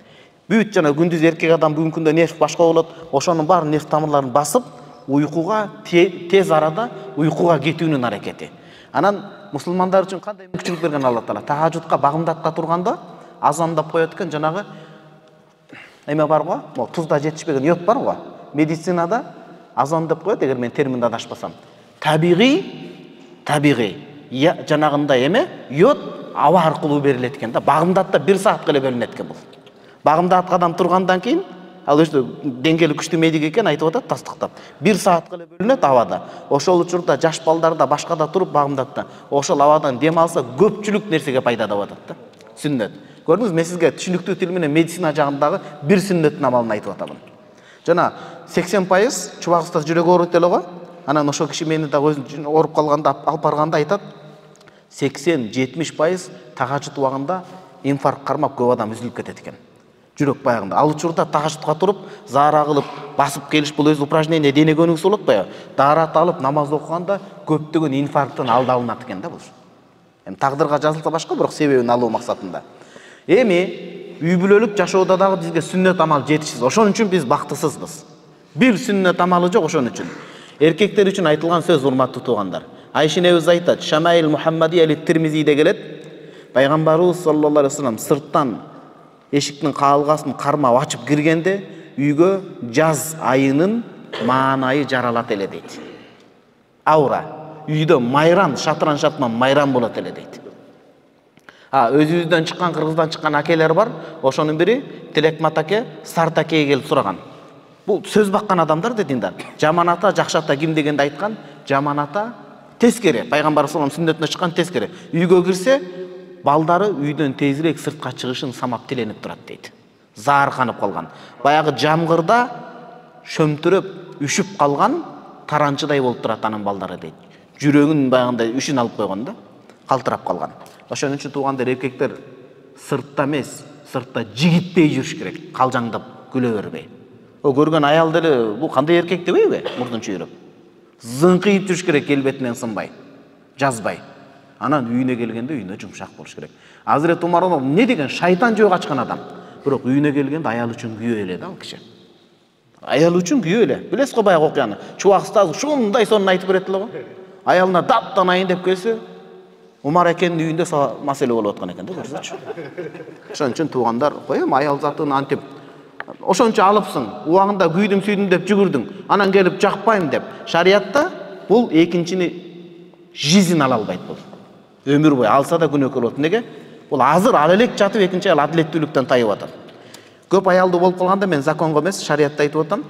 Бүт жана күндүз эркек адам, бүгүнкү күндө нерв башка болот, ошонун баары нерв тамырларын басып, уйкуга тез арада уйкуга кетүүнүн аракети. Анан мусулмандар үчүн кандай мүмкүнчүлүк берген Алла Таала? Тахажжудка, багымдатка турганда азандап коет экен, жанагы эме бар го, могу тузда жетишпеген йод бар го. Медицинада азан деп коет, эгер мен терминде адашпасам. Табигый жанагындай эме йод аба аркылуу берилет экен да. Багымдатта 1 саатка эле бөлүнөт экен бул. Багымдатка адам тургандан кийин, ал өзү деңгээли күчтүү медик экен айтып атат тастыктап. 1 саатка эле бөлүнөт абада. Ошол учурда жаш балдарда башкада туруп багымдатта. Ошол абадан дем алса көпчүлүк нерсеге пайда да атат да. Сүннөт. Көрдүңүз, мен сизге түшүнүктүү тил менен медицина жагындагы бир сүннөттүн амалын айтып атамын. Жана 80% чубагыбызда жүрөк ооруйт эле го. Анан ошол киши мени да өзү ооруп калганда алып барганда айтат, 80-70% тахажжуд убагында инфаркт кармап көп адам үзүлүп кетет экен. Жүрөк баягында. Ал учурда тахажжудка туруп, заара кылып, басып келиш бул өз упражнение дене көнүгүүсү болот баягы. Даарат алып, намаз окуганда көптөгөн инфаркттын алды алынат экен да бул. Эми тагдырга жазылса башка, бирок себебин алуу максатында. Эми үй бүлөлүк жашоодо дагы бизге сүннөт амал жетишсиз. Ошон үчүн биз бактысызбыз. Бир сүннөт амалы жок ошон үчүн. Эркектер үчүн айтылган сөз, урматтуу туугандар. Айша энебиз айтат, Шамаил Мухаммади али-Тирмизиде келет. Пайгамбарыбыз саллаллаху алейхи вассалам сырттан эшиктин каалгасын кармап ачып киргенде, үйгө жаз айынын маанайы жаралат эле дейт. Аура. Үйдө майран, шатыран майран болот эле дейт. Өзүбүздөн чыккан, Кыргыздан чыккан акелер бар. Ошонун бири Телекмат аке, Сарт акеге келип сураган. Бул сөз баккан адамдар дедиңдер. Жаман ата, жакшы ата ким дегенде айткан? Жаман ата тескери. Пайгамбар саллаллаху алейхи вассалам сүннөтүнө чыккан тескери. Үйгө кирсе, балдары үйдөн тезирээк сыртка чыгышын самап тиленип турат дейт. Заарканып калган. Баягы жамгырда шөмтүрөп, үшүп калган таранчыдай болуп турат анын балдары дейт. Жүрөгүн баягындай үшүн алып койгон да, калтырап калган. Ошон үчүн туугандар, эркектер сыртта эмес, сыртта жигитпей жүрүш керек, калжаңдап күлө бербей. Көргөн аял деле бул кандай эркек дебейби? Мурдун чүйрөп. Зыңкыйып жүрүш керек, келбетинен сынбай, жазбай. Анан үйүнө келгенде үйүнө жумшак болуш керек. Азирет Умар не деген шайтан жөө качкан адам. Бирок үйүнө келгенде аял үчүн күйөө эле да ал киши. Аял үчүн күйөө эле. Билесиз го баягы окуяны. Чубак устаз ушундай сонун айтып берет эле го. Аялына таптанайын деп келсе, Умар экенин үйүндө маселе болуп аткан экен да, көрсөчү. Ошон үчүн туугандар, коем аял затын антип ошончо алыпсың, убагында күйдүм сүйдүм деп жүгүрдүң, анан келип жакпайм деп. Шариятта бул экинчини жизнь ала албайт бул. Өмүр бою алса да күнөөкөр болот. Неге? Бул азыр ал элек жатып экинчи аял адилеттүүлүктөн тайып атат. Көп аялдуу болуп калганда мен законго эмес, шариятта айтып атам.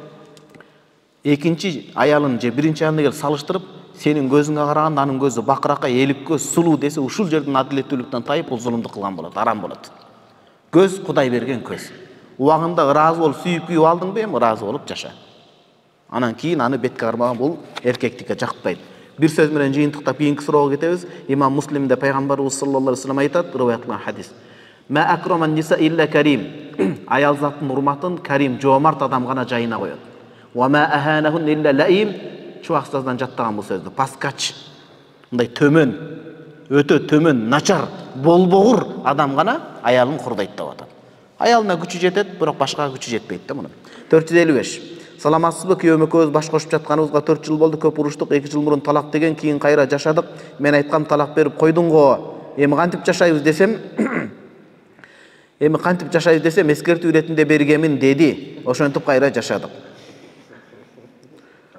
Экинчи аялын же биринчи аялын келип салыштырып, сенин көзүңө караганда анын көзү бакыракай, элик көз, сулуу десе, ушул жерден адилеттүүлүктөн тайып бул зулумдук кылган болот, арам болот. Көз Кудай берген көз. Убагында ыраазы болуп сүйүп алдыңбы, эми ыраазы болуп жаша. Анан кийин аны бетке кармаган бул эркектикке жакпайт. Бир сөз менен жыйынтыктап кийинки суроого кетебиз. Имам Муслимде пайгамбарыбыз саллаллаху алейхи вассалам айтат, риваят кылган хадис. Ма акраман ниса илля карим. Аял заттын урматын карим, жоомарт адам гана жайына коёт. Ва ма аханахун илля лаим. Чубак устаздан жаттаган бул сөздү. Паскач, мындай төмөн, өтө төмөн, начар, болбогур адам гана аялын курдайт деп атат. Аялына күчү жетет, бирок башкага күчү жетпейт да мунун. 455. Саламатсызбы? Күйөөм экөөбүз баш кошуп жатканыбызга 4 жыл болду. Көп уруштук. 2 жыл мурун талак деген, кийин кайра жашадык. Мен айткам талак берип койдуңго. Эми кантип жашайбыз десем, эскертүү иретинде бергемин деди. Ошентип кайра жашадык.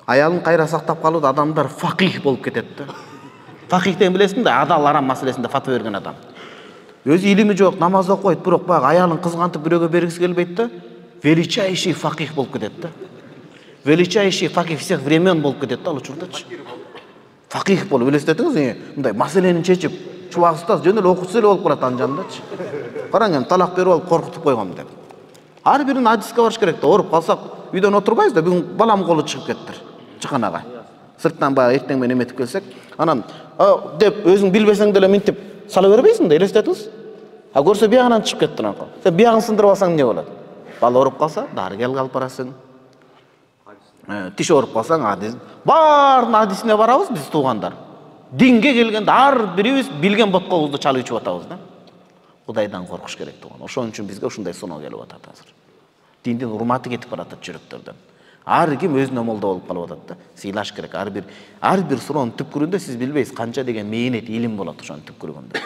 Аялын кайра сактап калууда адамдар факих болуп кетет да. Факих деген билесиң да, адал арам маселесинде фатва берген адам. Өзү илими жок, намаз окуйт, бирок баягы аялын кызгантып бирөөгө бергиси келбейт да. Величайший факих болуп кетет да. Величайший факих всех времен болуп кетет да ал учурдачы. Факих болуп элестетиңиз, мындай маселени чечип, чубак устаз жөн эле окуучу эле болуп калат анын жанындачы. Караң эми талак берип алып коркутуп койгом деп. Ар бирин адиске барыш керек да. Ооруп калсак, үйдөн отурбайбыз да, бүгүн балам колу чыгып кеттир. Чыканага. Сырттан баягы эртең менен эметип келсек, анан деп өзүң билбесең деле минтип сала бербейсиң да, элестетиңиз. Көрсө биягынан чыгып кеттир анкы. Сен биягын сындырып алсаң эмне болот? Бала ооруп калса, дарыгерге алып барасың. Тиш ооруп калсаң, адис. Баардын адисине барабыз биз туугандар. Динге келгенде ар бирибиз билген боткобузду чалып ичип атабыз да. Кудайдан коркуш керек тууган. Ошон үчүн бизге ушундай сыноо келип атат азыр. Диндин урматы кетип баратат жүрөктөрдөн. Ар ким өзүнө молдо болуп калып атат да. Сыйлаш керек. Ар бир суроонун түпкүрүндө сиз билбейсиз канча деген мээнет, илим болот ошонун түпкүрүндө.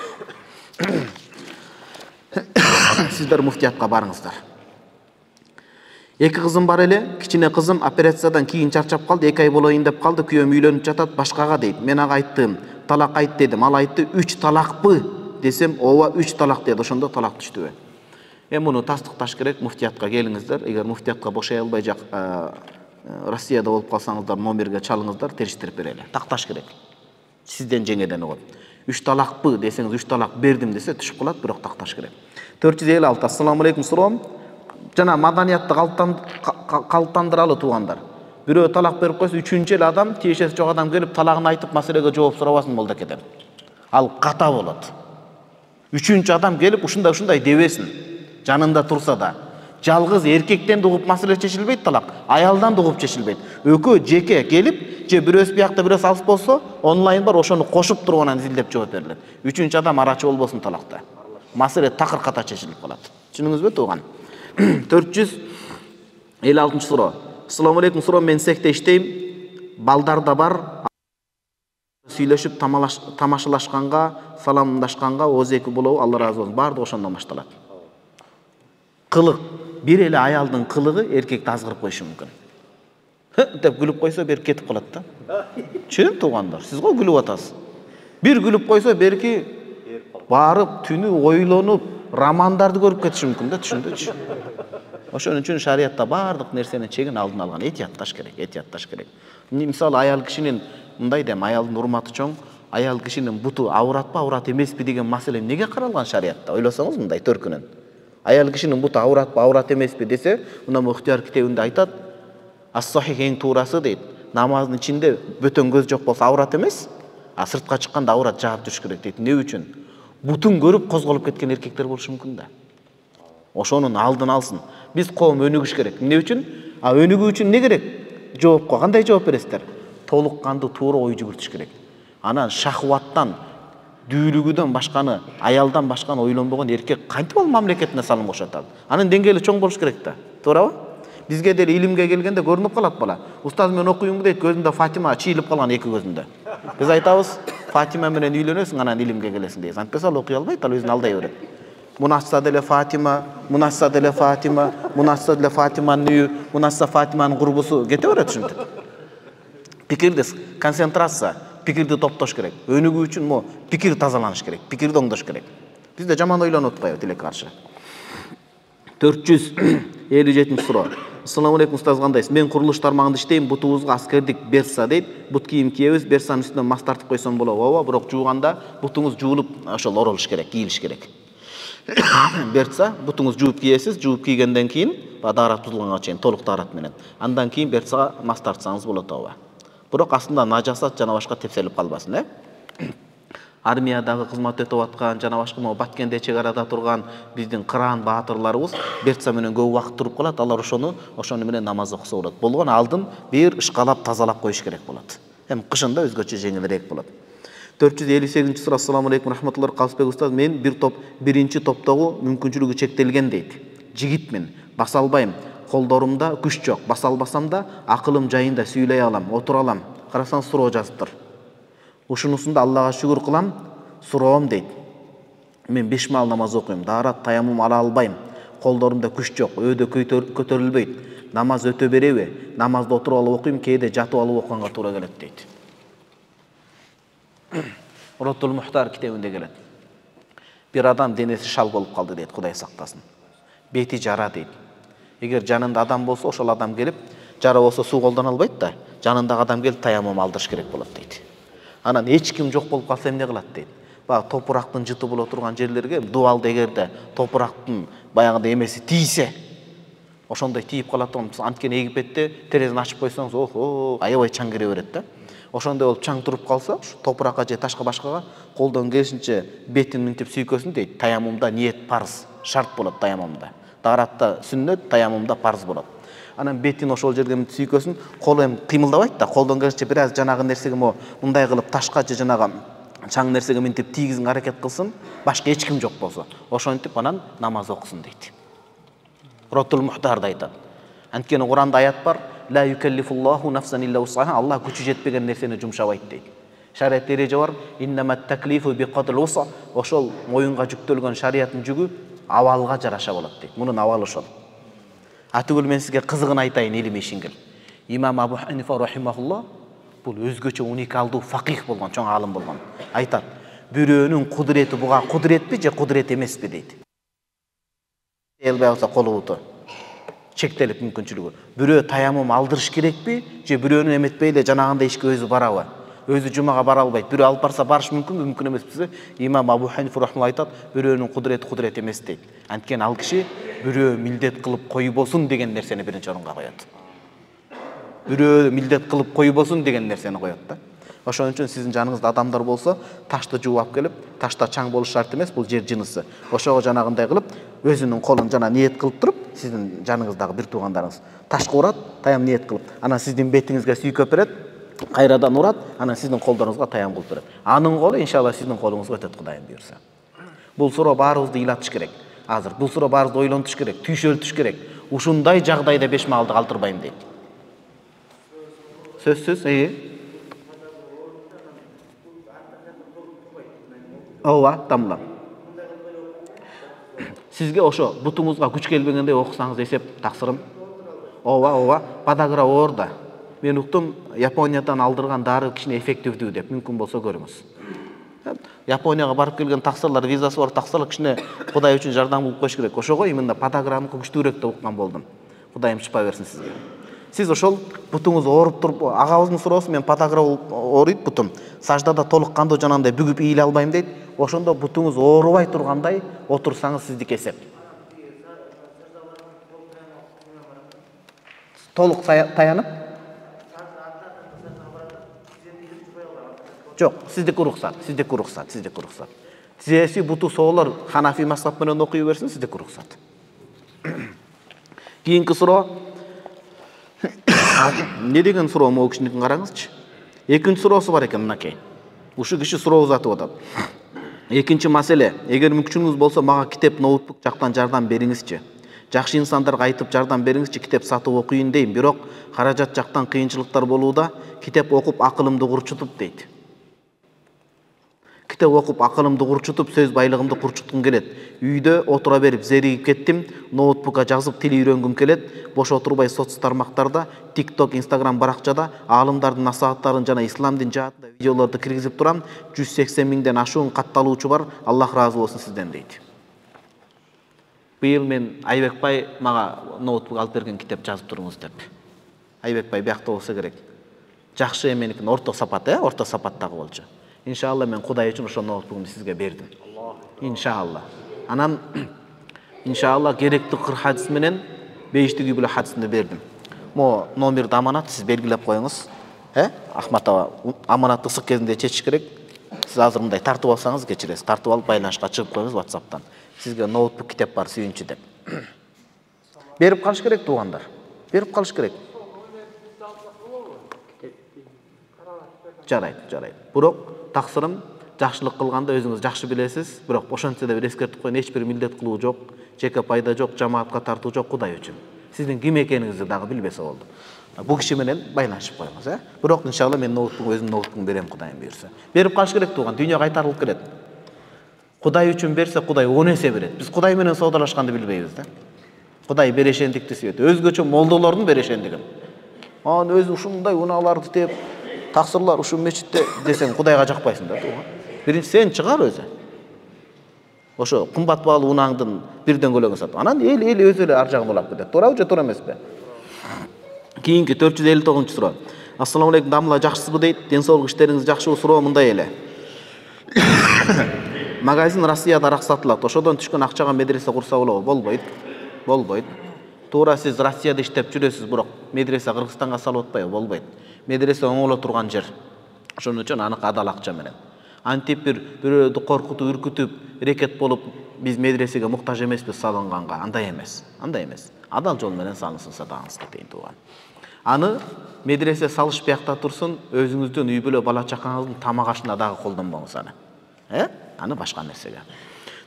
Сиздер муфтиятка барыңыздар. 2 кызым бар эле. Кичине кызым операциядан кийин чарчап калды. 2 ай болоюн деп калды. Күйөөм үйлөнүп жатат башкага дейт. Мен ага айттым, талак айт дедим. Ал айтты, 3 талакпы десем, ооба 3 талак деди. Ошондо талак түштүбү? Муну тастыкташ керек, муфтиятка келиңиздер. Эгер муфтиятка бошой албай Россияда болуп калсаңыздар, номерге чалыңыздар, териштирип берели. Такташ керек. Сизден жеңеден угат. 3 талакпы десеңиз, 3 талак бердим десе түшүп калат, бирок такташ керек. 456. Ассаламу алейкум, суроом. Жана маданиятты калыптандыралы туугандар. Бирөө талак берип койсо, 3-чү эле адам, тиешеси жок адам келип талагын айтып маселеге жооп сурабасын молдокеден. Ал ката болот. 3-чү адам келип ушундай дебесин. Жанында турса да. Жалгыз эркектен угуп маселе чечилбейт талак, аялдан угуп чечилбейт. Экөө жеке келип, же бирөөсү биякта бирөөсү алыс болсо, онлайн бар, ошону кошуп туруп анан изилдеп жооп берилет. 3-чү адам арачы болбосун талакта. Маселе такыр ката чечилип калат. Түшүнүңүзбү тууган? 456 суроо. Ассаламу алейкум, суроо. Мен секте иштейм. Балдар да бар. Сүйлөшүп тамашалашканга, саламдашканга озеки болобу, Алла разы болсун. Баардыгы ошондон башталат. Кылык, бир эле аялдын кылыгы эркекти азгырып коюшу мүмкүн. Деп күлүп койсо, бер кетип калат да. Чын туугандар, сиз го күлүп атасыз. Бир күлүп койсо, берки барып түнү ойлонуп, романдарды көрүп кетиши мүмкүн да, түшүндүчү. Ошон үчүн шариятта баардык нерсенин чегин алдын алган. Этиятташ керек. Мисалы аял кишинин мындай дем, аялдын урматы чоң, аял кишинин буту ауратпы, аурат эмеспи деген маселе эмнеге каралган шариятта? Ойлосоңуз мындай төркүнөн. Аял кишинин буту ауратпы, аурат эмеспи десе, мына Мухтияр китебинде айтат, ас-сахих эң туурасы дейт. Намаздын ичинде бөтөн көз жок болсо аурат эмес, а сыртка чыкканда аурат жаап туруш керек дейт. Эмне үчүн? Бутун көрүп козголуп кеткен эркектер болушу мүмкүн да. Ошонун алдын алсын. Биз коом өнүгүш керек. Эмне үчүн? Өнүгүү үчүн не керек? Жоопко кандай жооп бересиздер? Толук кандуу туура ой жүгүртүш керек. Анан шахваттан, дүүлүгүдөн башканы, аялдан башканы ойлонбогон эркек кантип ал мамлекетине салым кошот ал? Анын деңгээли чоң болуш керек да. Туурабы? Бизге деле илимге келгенде көрүнүп калат бала. Устаз мен окуймун дейт, көзүндө Фатима чыйылып калган 2 көзүндө. Биз айтабыз, Фатима менен үйлөнөсүң, анан илимге келесиң дейбиз. Антпесе ал окуй албайт, ал өзүн алдай берет. Мунасса деле Фатима, мунасса деле Фатима, мунасса деле Фатиманын үйү, мунасса Фатиманын курбусу кете берет ушинтип. Пикирди концентрация, пикирди топтош керек. Өнүгүү үчүн пикир тазаланыш керек, пикирди оңдош керек. Бизде жаман ойлонуп атпайбы тилекке каршы. 457 суроо. Ассаламу алейкум, устаз кандайсыз? Мен курулуш тармагында иштейм, бутубузга аскердик берса дейт. Бут кийим кийебиз, берсанын үстүнөн мас тартып койсом болобу? Ооба, бирок жууганда бутуңуз жуулуп, ошол оролуш керек, кийилиш керек. Берса, бутуңуз жууп кийесиз, жууп кийгенден кийин, даарат бузулганга чейин толук даарат менен. Андан кийин берсага мас тартсаңыз болот, ооба. Бирок астында нажасат жана башка тепселип калбасын, Армиядагы кызмат өтөп аткан, жана башка Баткенде чек арада турган биздин кыран баатырларыбыз берса менен көп убакыт туруп калат. Алар ошону менен намаз окуса болот. Болгон алдын бир ышкалап тазалап коюш керек болот. Эми кышында өзгөчө жеңилирээк болот. 458 суроо. Ассаламу алейкум рахматуллах. Калысбек устаз, мен биринчи топтогу мүмкүнчүлүгү чектелген дейт. жигитмин, баса албайм. Колдорумда күч жок. Баса албасам да акылым жайында сүйлөй алам, отура алам. Карасаң суроо жазыптыр. Ушунусунда Аллага шүгүр кылам, суроом дейт. Мен 5 маал намаз окуйм, даарат таямум ала албайм. Колдорумда күч жок, өйдө көтөрүлбөйт. Намаз өтө береби? Намазды отуруп алып окуйм, кээде жатып алып окуганга туура келет дейт. Ротул Мухтар китебинде келет. Bir адам денеси шал болуп калды дейт, Кудай сактасын. Бети жара дейт. Эгер жанында адам болсо, ошол адам келип, жара болсо суу колдоно албайт да, жанындагы адам келип таямум алдырыш керек болот дейт. Анан эч ким жок болуп калса эмне кылат дейт. Баягы топурактын жыты боло турган жерлерге дубалды эгерде топурактын баягыдай эмеси тийсе, ошондой тийип калат да, анткени Египетте терезени ачып койсоңуз, охо, аябай чаң кире берет да. Ошондой болуп чаң туруп калса, топуракка же ташка башкага колдон келишинче бетин мынтип сүйкөсүн дейт. Таямумда ниет парыз, шарт болот таямумда. Дааратта сүннөт, таямумда парыз болот. Анан бетин ошол жерге мынтип сүйкөсүн, колу эми кыймылдабайт да, колдон келишинче бир аз жанагы нерсеге мындай кылып ташка же жанагы чаң нерсеге мынтип тийгизин аракет кылсын, башка эч ким жок болсо. Ошентип анан намаз окусун дейт. Ротул Мухтарда айтат. Анткени Куранда аят бар: «Ла юкаллифуллаху нафсан илля усаха», Аллах күчү жетпеген нерсени жумшабайт дейт. Шариат эреже бар: «Иннамат таклифу биқадрил уса», ошол моюнга жүктөлгөн шариаттын жүгү абалга жараша болот дейт. Мунун абалы ошол. Атүгүл мен сизге кызыгын айтайын, илим ишиңил. Имам Абу Ханифа рахимахуллах бул өзгөчө уникалдуу факих болгон, чоң алым болгон. Айтат: бирөөнүн кудурети буга кудуретпи же кудурет эмеспи дейт. Элбей болсо колубуту чектелип мүмкүнчүлүгү. Бирөө таямум алдырыш керекпи же бирөөнү эметпей эле жанагындай ишке өзү барабы? Өзү жумага бара албайт. Бирөө алып барса барыш мүмкүнбү, мүмкүн эмеспи? Имам Абу Ханифа рахимахуллах айтат: бирөөнүн кудурети кудурет эмес дейт. Анткени ал киши бирөө милдет кылып койбосун деген нерсени биринчи орунга коёт. Бирөө милдет кылып койбосун деген нерсени коёт да. Ошон үчүн сиздин жаныңызда адамдар болсо, ташты жууп алып келип, ташта чаң болуш шарт эмес, бул жер жынысы. Ошого жанагындай кылып, өзүнүн колун жана ниет кылып туруп, сиздин жаныңыздагы бир туугандарыңыз ташка урат, таям ниет кылып, анан сиздин бетиңизге сүйкөп берет, кайрадан урат, анан сиздин колдоруңузга таям кылып берет. Анын колу иншалла сиздин колуңузга өтөт, Кудайым буйрса. Бул суроо баарыбызды ыйлатыш керек. Азыр бул суроо баарыбызды ойлонтуш керек, түйшөлтүш керек. Ушундай жагдайда 5 маалды калтырбайм дейт. Сөзсүз, ооба, тамла. Сизге ошо бутуңузга күч келбегенде окусаңыз эсеп таксырым. Ооба, подагра оорда. Мен уктум, Япониядан алдырган дары кичине эффективдүү деп, мүмкүн болсо көрүңүз. Японияга барып келген таксырлар, визасы бар таксырлар кичине Кудай үчүн жардам кылып коюш керек. Ошого именно подаграныкы күчтүүрөөк деп уккан болдум. Кудайым шипа берсин сизге. Сиз ошол бутуңуз ооруп туруп, агабыздын суроосу, мен подагра ооруйт бутум. Саждада толук кандуу жанагындай бүгүп ийиле албайм дейт. Ошондо бутуңуз оорубай тургандай отурсаңыз сиздики эсеп. Толук таянып? Жок, сиздики уруксат. Сиздики буту соолор Ханафи мазхаб менен окуй берсин, сиздики уруксат. Кийинки суроо. Не деген суроо могу кишиникин караңызчы. Экинчи суроосу бар экен мынакей. Ушу киши суроо узатып атат. Экинчи маселе, эгер мүмкүнчүлүгүңүз болсо мага китеп, ноутбук жактан жардам бериңизчи. Жакшы инсандарга айтып жардам бериңизчи, китеп сатып окуйын дейм, бирок каражат жактан кыйынчылыктар болууда, китеп окуп акылымды курчутуп дейт. Китеп окуп акылымды курчутуп, сөз байлыгымды курчуткум келет. Үйдө отура берип зеригип кеттим, ноутбукка жазып тил үйрөнгүм келет. Бош отурбай соц тармактарда, TikTok, Instagram баракчада аалымдардын насааттарын жана ислам дин жаатында видеолорду киргизип турам. 180 миңден ашуун катталуучу бар. Аллах ыраазы болсун сизден дейт. Быйыл мен Айбек бай мага ноутбук алып берген, китеп жазып туруңуз деп. Айбек бай биякта болсо керек. Жакшы эменикин орто сапат, орто сапаттагы болчу. Иншалла мен Кудай үчүн ошол ноутбукту сизге бердим. Иншалла. Анан иншалла керектүү кыр хадис менен бейиштиги биле хадисинде бердим. Мо номерди аманат сиз белгилеп коюңуз. Ахматова аманатты ысык кезинде чечиш керек. Сиз азыр мындай тартып алсаңыз кечиресиз. Тартып алып байланышка чыгып коюңуз WhatsApp'тан. Сизге ноутбук китеп бар сүйүнчү деп. Берип калыш керек туугандар. Берип калыш керек. Жарайт. Бирок таксырым жакшылык кылганда өзүңүз жакшы билесиз, бирок ошентсе да бир эскертип коеюн, эч бир милдет кылуу жок, жеке пайда жок, жамаатка тартуу жок, Кудай үчүн. Сиздин ким экениңизди дагы билбесе болду. Бул киши менен байланышып коюңуз, Бирок иншалла мен өзүмдүн ноутбугумду берем Кудайым буйрса. Берип калыш керек тууган, дүйнө кайтарылып келет. Кудай үчүн берсе, Кудай 10 эсе берет. Биз Кудай менен соодалашканды билбейбиз да. Кудай берешендикти сүйөт. Өзгөчө молдолордун берешендигин. Анан өзү ушундай унааларды теп, таксырлар ушул мечитте десең Кудайга жакпайсың да тууган. Биринчи сен чыгар өзү. Ошо кымбат баалуу унааңдын бирден көлөгүн сатып. Анан эл өзү эле ар жагын улап кетет. Туурабы же туура эмеспи? Кийинки 459-суроо. Ассаламу алейкум, дамла жакшысызбы дейт. Ден соолук иштериңиз жакшыбы? Суроо мындай эле. Магазин Россияда арак сатылат. Ошодон түшкөн акчага медресе курса болобу? Болбойт. Туура сиз Россияда иштеп жүрөсүз, бирок медресе Кыргызстанга салып атпайбы? Болбойт. Медресе оңоло турган жер. Ошон үчүн аны адал акча менен. Антип бирөөдү коркутуп, үркүтүп, рекет болуп биз медресеге муктаж эмеспиз салынганга. Андай эмес. Адал жол менен салынсын садагыңызга дейин тууган. Аны медресе салыш биякта турсун, өзүңүздүн үй бүлө бала чакаңыздын тамак ашына дагы колдонбоңуз аны. Аны башка нерсеге.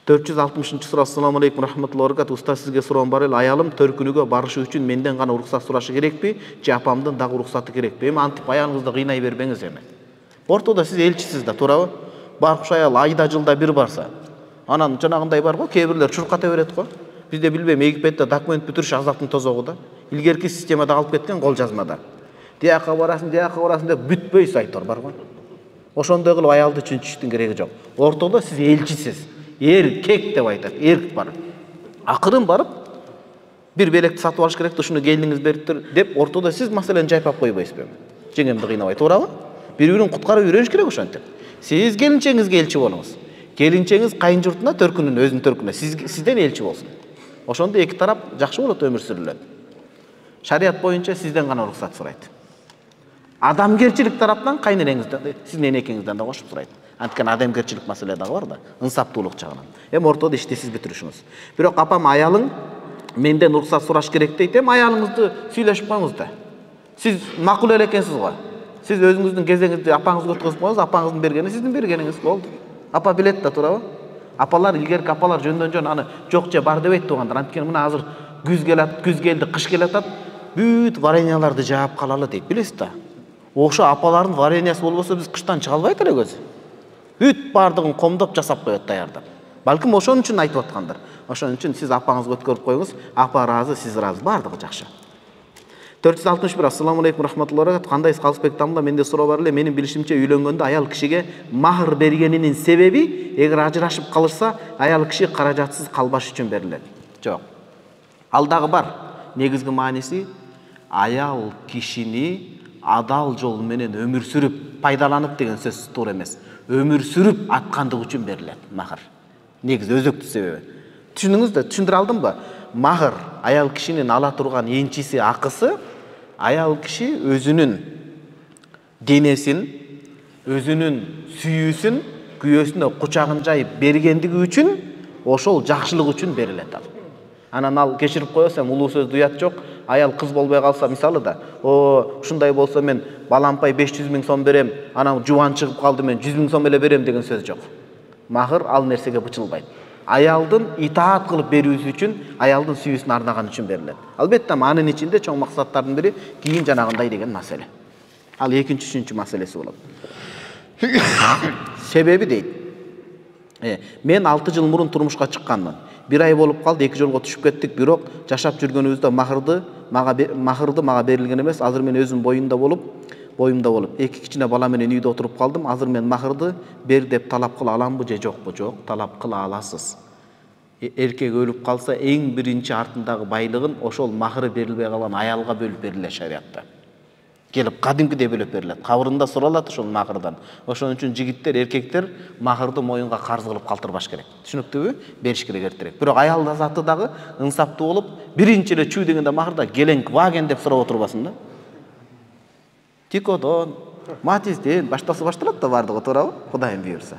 460-суроо. Ассаламу алейкум рахматуллахи ва баракатуh. Устаз, сизге суроом бар эле. Аялым төркүнүгө барышы үчүн менден гана уруксат сурашы керекпи, же апамдын дагы уруксаты керекпи? Эми антип аялыңызды кыйнай бербеңиз эми. Ортодо сиз элчисиз да, туурабы? Баркыш аял айда жылда бир барса, анан жанагындай бар го, кээ бирлер чурката берет го. Бизде билбейм, Египетте документ бүтүрүш азаптын тозогу да. Илгерки системада калып кеткен кол жазмада. Тияка барасың деп бүтпөй сайтор бар го. Ошондой кылып аялды чүнчүштүн кереги жок. Ортодо сиз элчисиз. Эркек деп айтат, эркек бар. Акырын барып бир белекти сатып алыш керек, ушуну келиңиз бериптир деп ортодо сиз маселени жайпап койбойсузбу? Жеңемди кыйнабай, туурабы? Бири-бирин куткарып үйрөнүш керек ошентип. Сиз келинчеңизге элчи болуңуз. Келинчеңиз кайын журтуна, төркүнүнө, өзүнүн төркүнүнө сизден элчи болсун. Ошондо эки тарап жакшы болот, өмүр сүрүлөт. Шарият боюнча сизден гана уруксат сурайт. Адамгерчилик тараптан кайненеңизден, сиздин энекеңизден да кошуп сурайт. Анткени адамгерчилик маселе дагы бар да, ынсаптуулук жагынан. Эми ортодо иштесиз бүтүрүшүңүз. Бирок апам аялың менден уруксат сураш керек дейт. Эми аялыңызды сүйлөшүп коюңуз да. Сиз макул эле экенсиз го. Сиз өзүңүздүн кезеңизди апаңызга өткөзүп коюңуз, апаңыздын бергени сиздин бергениңиз болду. Апа билет да, туурабы? Апалар, илгерки апалар жөндөн жөн аны жок же бар дебейт туугандар. Анткени мына азыр күз келди, кыш келатат, бүт вареньяларды жаап калалы дейт, билесиз да. Ошо апалардын вареньясы болбосо биз кыштан чыга албайт элекөз. Бүт бардыгын комдоп жасап коет даярдап. Балким ошон үчүн айтып аткандар. Ошон үчүн сиз апаңызга өткөрүп коюңуз, апа ыраазы, сиз ыраазы, бардыгы жакшы. 461. Ассаламу алейкум рахматуллахи ва баракатуh. Кандайсыз Калысбек тамла? Менде суроо бар эле. Менин билишимче үйлөнгөндө аял кишиге махр бергенинин себеби, эгер ажырашып калышса, аял киши каражатсыз калбаш үчүн берилет. Жок. Ал дагы бар. Негизги мааниси аял кишини адал жол менен өмүр сүрүп пайдаланып деген сөз туура эмес. Өмүр сүрүп аткандык үчүн берилет махр. Негизи өзөктүү себеби. Түшүндүңүз да, түшүндүрө алдымбы? Махр аял кишинин ала турган энчиси, акысы, аял киши өзүнүн денесин, өзүнүн сүйүүсүн күйөөсүнө кучагын жайып бергендиги үчүн, ошол жакшылык үчүн берилет ал. Анан ал кечирип коесам, улуу сөз дуят жок. Аял кыз болбой калса, мисалы да, ушундай болсо мен балампай 500 000 сом берем, анан жубан чыгып калды, мен 100 000 сом эле берем деген сөз жок. Махр ал нерсеге бычылбайт. Аялдын итаат кылып берүүсү үчүн, аялдын сүйүүсүн арнаган үчүн берилет. Албетте, анын ичинде чоң максаттардын бири кийин жанагындай деген маселе. Ал экинчи, үчүнчү маселеси болот. Себеби дейт. Мен 6 жыл мурун турмушка чыкканмын. 1 ай болуп калды, 2 жолго түшүп кеттик, бирок жашап жүргөнүбүздө махырды мага берилген эмес. Азыр мен өзүм боюмда болуп, 2 кичине бала менен үйдө отуруп калдым. Азыр мен махырды бер деп талап кыла аламбы же жокпу? Жок, талап кыла аласыз. Эркек өлүп калса, эң биринчи артындагы байлыгын ошол махыры берилбей калган аялга бөлүп берилет шариатта. Келип кадимкидей бөлүп берилет. Кабырында суралат ошол махырдан. Ошон үчүн жигиттер, эркектер махырды моюнга карыз кылып калтырбаш керек. Түшүнүктүүбү? Бериш керек эртерээк. Бирок аял заты дагы ынсаптуу болуп, биринчи эле чүй дегенде махырда келең ваген деп сурап отурбасын да. Тикодон, Матизден башталат да бардыгы, туурабы? Кудайым буйрса.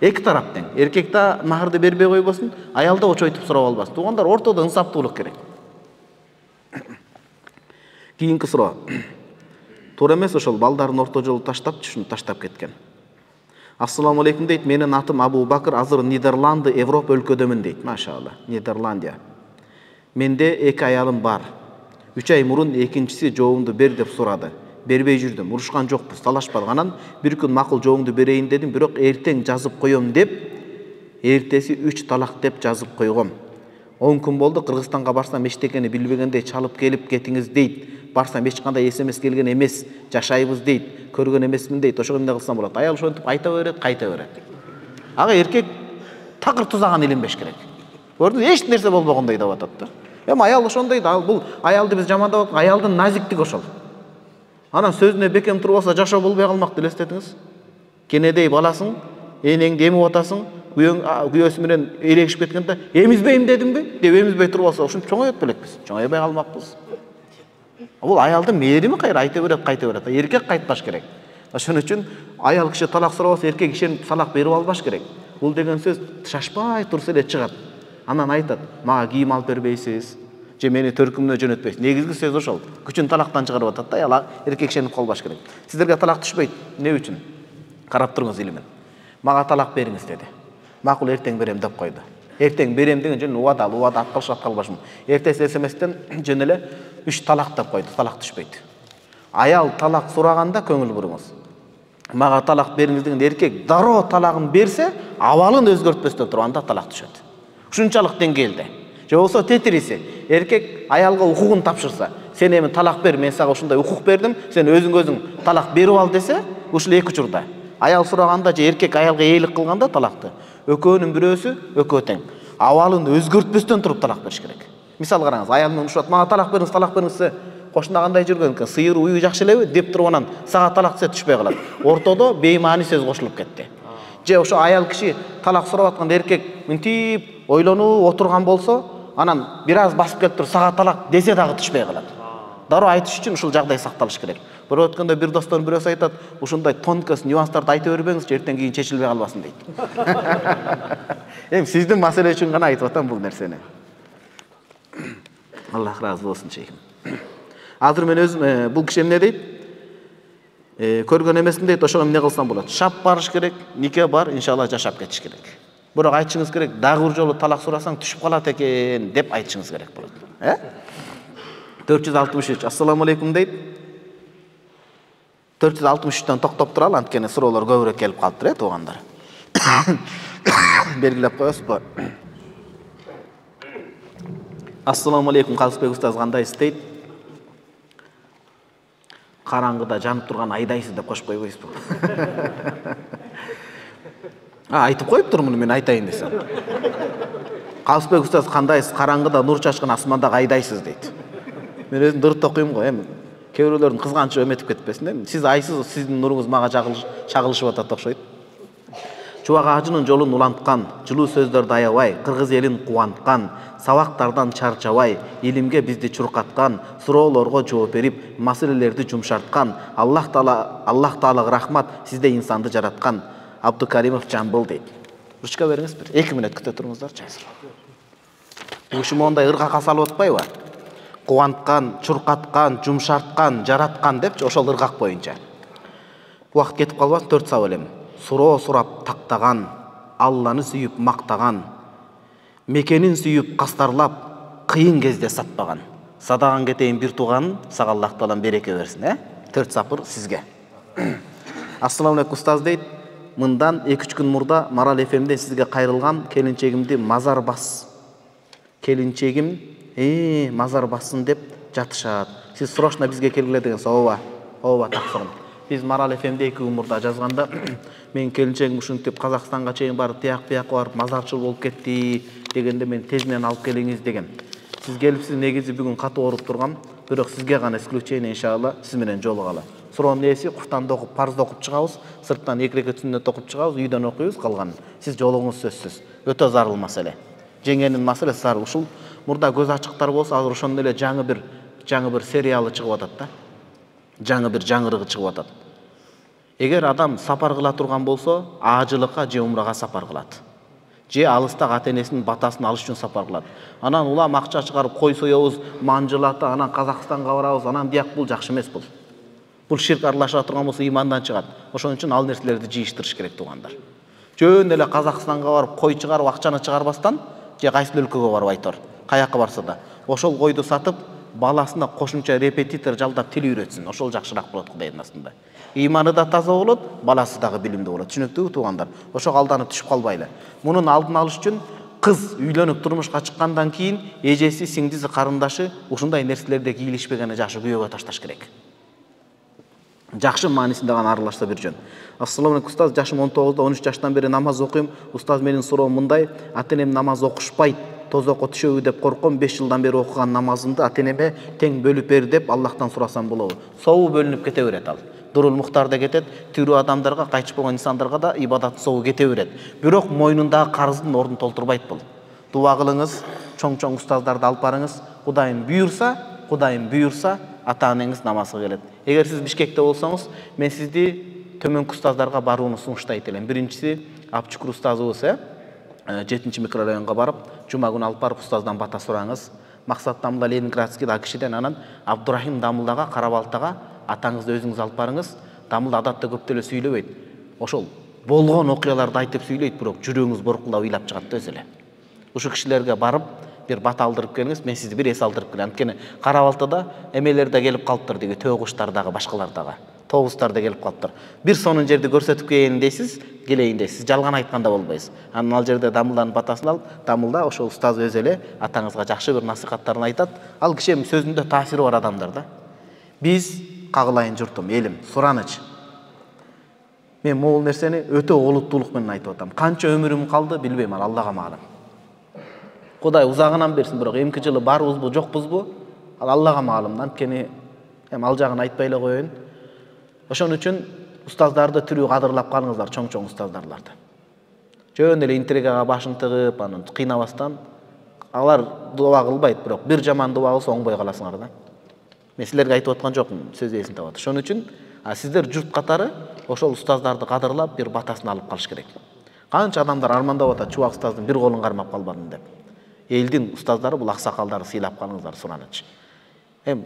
Эки тарап тең. Эркек да махырды бербей койбосун, аял да очойтуп сурап албасын. Туугандар, ортодо ынсаптуулук керек. Кийинки суроо. Туура эмес ошол балдарын орто жолу таштап, түшүнүп таштап кеткен. Ассаламу алейкум дейт. Менин атым Абу Бакыр, азыр Нидерланды, Европа өлкөдөмүн дейт. Машалла. Нидерландия. Менде 2 аялым бар. 3 ай мурун экинчиси жообумду бер деп сурады. Бербей жүрдүм. Урушкан жокпуз, талашпадык. Анан бир күн макул жообумду берейин дедим, бирок эртең жазып коем деп, эртеси 3 талак деп жазып койгом. 10 күн болду, Кыргызстанга барсам эчтекени билбегендей чалып келип кетиңиз дейт. Барсам эч кандай СМС келген эмес, жашайбыз дейт, көргөн эмесмин дейт. Ошого эмне кылсам болот? Аял ошентип айта берет, кайта берет. Ага эркек такыр тузаган илинбеш керек. Көрдүңүз, эч нерсе болбогондой деп атат да. Эми аял ошондой да, бул аялды биз жамандап атпайбыз, аялдын назиктиги ошол. Анан сөзүнө бекем туруп алса жашоо болбой калмак элестетиңиз. Кенедей баласың, энеңди эмип атасың, күйөөсү менен элегишип кеткенде, эмизбейм дедимби? Деп эмизбей туруп алса, ушинтип чоңойот белекпиз. Чоңойбой калмакпыз. Бул аялдын мээрими кайра айта берет, кайта берет. Эркек кайтпаш керек. Ошон үчүн аял киши талак сурабаса, эркек ишенип талак берип албаш керек. Бул деген сөз шашпай турса эле чыгат. Анан айтат, мага кийим алып бербейсиз, же мени төркүмүнө жөнөтпөйсүз. Негизги сөз ошол. Күчүн талактан чыгарып атат да, аял эркек ишенип калбаш керек. Сиздерге талак түшпөйт. Эмне үчүн? Карап туруңуз илимен. Мага талак бериңиз деди. Макул эртең берем деп койду. Эртең берем деген жөн убада аткалбашмын. Эртеси СМСтен жөн эле 3 талак деп койду. Талак түшпөйт. Аял талак сураганда көңүл буруңуз. Мага талак бериңиз деген эркек дароо талагын берсе, абалын өзгөртпөстөн туруп анда талак түшөт. Ушунчалык деңгээлде. Же болсо тетириси, эркек аялга укугун тапшырса, сен эми талак бер, мен сага ушундай укук бердим, сен өзүң талак берип ал десе, ушул эки учурда. Аял сураганда же эркек аялга ээлик кылганда талакты, экөөнүн бирөөсү экөө тең. Абалын өзгөртпөстөн туруп талак бериш керек. Мисал караңыз, аялым менен ушат, мага талак бериңиз, кошуна кандай жүргөн экен, сыйыр уюу жакшы элеби деп туруп анан сага талак десе түшпөй калат. Ортодо беймаани сөз кошулуп кетти. Же ошо аял киши талак сурап атканда эркек мынтип ойлонуп отурган болсо, анан бир аз басып келип туруп сага талак десе дагы түшпөй калат. Дароо айтыш үчүн ушул жагдай сакталыш керек. Бирөө өткөндө бир достордун бирөөсү айтат, ушундай тонкость, нюанстарды айта бербеңизчи, эртең кийин чечилбей калбасын дейт. Эми сиздин маселе үчүн гана айтып атам бул нерсени. Аллах разы болсун чейким. Азыр мен өзүм бул киши эмне дейт? Көргөн эмесмин дейт, ошого эмне кылсам болот? Шап барыш керек, нике бар, иншалла жашап кетиш керек. Бирок айтышыңыз керек, дагы бир жолу талак сурасаң түшүп калат экен деп айтышыңыз керек болот. 463. Ассаламу алейкум дейт. 463төн токтоп туралы, анткени суроолор көбүрөөк келип калыптыр, туугандар. Белгилеп коесузбу? Ассаламу алейкум, Калысбек устаз, кандайсыз дейт? Караңгыда жанып турган айдайсыз деп кошуп койбойсузбу? Айтып коюптурмун мен айтайын десем. Калысбек устаз, кандайсыз? Караңгыда нур чачкан асмандагы айдайсыз дейт. Мен өзүм дырт окуйм го, эми кээ бирөөлөрдүн кызганычы өметип кетпесин, эми сиз айсыз, сиздин нуруңуз мага чагылышып атат окшойт. Чубак ажынын жолун уланткан, жылуу сөздөрдү аябай, кыргыз элин кубанткан, сабактардан чарчабай, илимге бизди чуркаткан, суроолорго жооп берип, маселелерди жумшарткан, Аллах Таалага рахмат, сизде инсанды жараткан. Абдукаримов Жамбыл дейт. Ручка бериңиз бир. 2 мүнөт күтө туруңуздарчы азыр. Бул киши мондай ыргакка салып атпайбы? Кубанткан, чуркаткан, жумшарткан, жараткан депчи, ошол ыргак боюнча. Убакыт кетип калбасын, 4 сабак элем. Суроо сурап тактаган, Алланы сүйүп мактаган, мекенин сүйүп кастарлап, кыйын кезде сатпаган. Садаган кетейин бир тууганын, сага Аллах Таалам береке берсин, 4 сапыр сизге. Ассаламу алейкум устаз дейт. Мындан 2-3 күн мурда Марал ФМден сизге кайрылган келинчегимди мазар бас. Келинчегим мазар бассын деп жатышат. Сиз срочно бизге келгиле деген ооба. Ооба таксырым. Биз Марал ФМде 2 күн мурда жазганда мен келинчегим ушинтип Казакстанга чейин барып, тияк-бияка барып мазарчыл болуп кетти дегенде мен тезинен алып келиңиз деген. Сиз келипсиз, негизи бүгүн катуу ооруп тургам, бирок сизге гана исключение иншалла сиз менен жолугалы. Суроонун ээси Куртанды окуп, парзды окуп чыгабыз, сырттан 2 рекет сүннөт окуп чыгабыз, үйдөн окуйбуз, калганын. Сиз жолугуңуз сөзсүз. Өтө зарыл маселе. Жеңенин маселеси зарыл. Ушул мурда көз ачыктар болсо, азыр ошондой эле жаңы бир сериалы чыгып атат да. Жаңы бир жаңырыгы чыгып атат. Эгер адам сапар кыла турган болсо, ажылыкка же умрага сапар кылат. Же алыстагы ата-энесинин батасын алыш үчүн сапар кылат. Анан улам акча чыгарып кой соёбуз, манжылаты, анан Казакстанга барабыз, анан бияк, бул жакшы эмес бул. Бул ширк аралаша турган болсо имандан чыгат. Ошон үчүн ал нерселерди жыйыштырыш керек туугандар. Жөн эле Казакстанга барып кой чыгарып акчаны чыгарбастан, же кайсы өлкөгө барып айтор, каяка барса да, ошол койду сатып, баласына кошумча репетитор жалдап тил үйрөтсүн. Ошол жакшыраак болот Кудайдын астында. Иманы да таза болот, баласы дагы билимдүү болот. Түшүнүктүүбү туугандар? Ошого алданып түшүп калбайлы. Мунун алдын алыш үчүн кыз үйлөнүп турмушка чыккандан кийин эжеси, сиңдиси, карындашы ушундай нерселерде кийлишпегени жакшы күйөөгө ташташ керек. Жакшы маанисинде гана аралашса бир жөн. Ассаламу алейкум устаз, жашым 19-да, 13 жаштан бери намаз окуйм. Устаз, менин суроом мындай: ата-энем намаз окушпайт, тозокко түшөбү деп корком. 5 жылдан бери окуган намазымды ата-энеме тең бөлүп бер деп Аллахтан сурасам болобу? Собу бөлүнүп кете берет ал. Дурул Мухтарда кетет, тирүү адамдарга, кайтыш болгон инсандарга да ибадат собу кете берет. Бирок мойнундагы карыздын ордун толтурбайт бул. Дуа кылыңыз, чоң-чоң устаздарды алып барыңыз. Кудайым буйурса, ата-энеңиз намазга келет. Эгер сиз Бишкекте болсоңуз, мен сизди төмөнкү устаздарга барууну сунуштайт элем. Биринчиси Абчукур устазыбыз, 7-чи микрорайонго барып, жума күнү алып барып устаздан бата сураңыз. Максат Дамылда Ленинградский да кишиден, анан Абдурахим Дамылдага, Карабалтага атаңызды өзүңүз алып барыңыз. Дамылда адатта көп деле сүйлөбөйт. Ошол болгон окуяларды айтып сүйлөйт, бирок жүрөгүңүз боркулдап ыйлап чыгат да өзү эле. Ушул кишилерге барып бир бата алдырып келиңиз, мен сизди бир эс алдырып келем. Анткени Карабалтада эмелер да келип калыптыр, деги төөгуштар дагы, башкалар дагы. Тобустар да келип калыптыр. Бир сонун жерди көрсөтүп келейин дейсиз, келейин дейсиз. Жалган айтканда болбойсуз. Анан ал жерде Дамылданын батасын алып, Дамылда ошол устаз өзү эле атаңызга жакшы бир насихаттарын айтат. Ал киши эми сөзүндө таасири бар адамдар да. Биз кагылайын журтум, элим, сураныч. Мен могул нерсени өтө олуттуулук менен айтып атам. Канча өмүрүм калды билбейм, Аллага маалым. Кудай узагынан берсин, бирок эмки жылы барбызбы, жокпузбу? Ал Аллага маалым. Анткени эми ал жагын айтпай эле коеюн. Ошон үчүн устаздарды тирүү кадырлап калыңыздар, чоң-чоң устаздарларды. Жөн эле интригага башын тыгып, анан кыйнабастан, алар дуа кылбайт, бирок бир жаман дуа кылса оңбой каласыңар да. Мен силерге айтып аткан жокмун, сөз эсин табат. Ошон үчүн сиздер журт катары ошол устаздарды кадырлап, бир батасын алып калыш керек. Канча адамдар армандап атат, чубак устаздын бир колун кармап калбадым деп. Элдин устаздары бул аксакалдарды сыйлап калыңыздар, сураныч.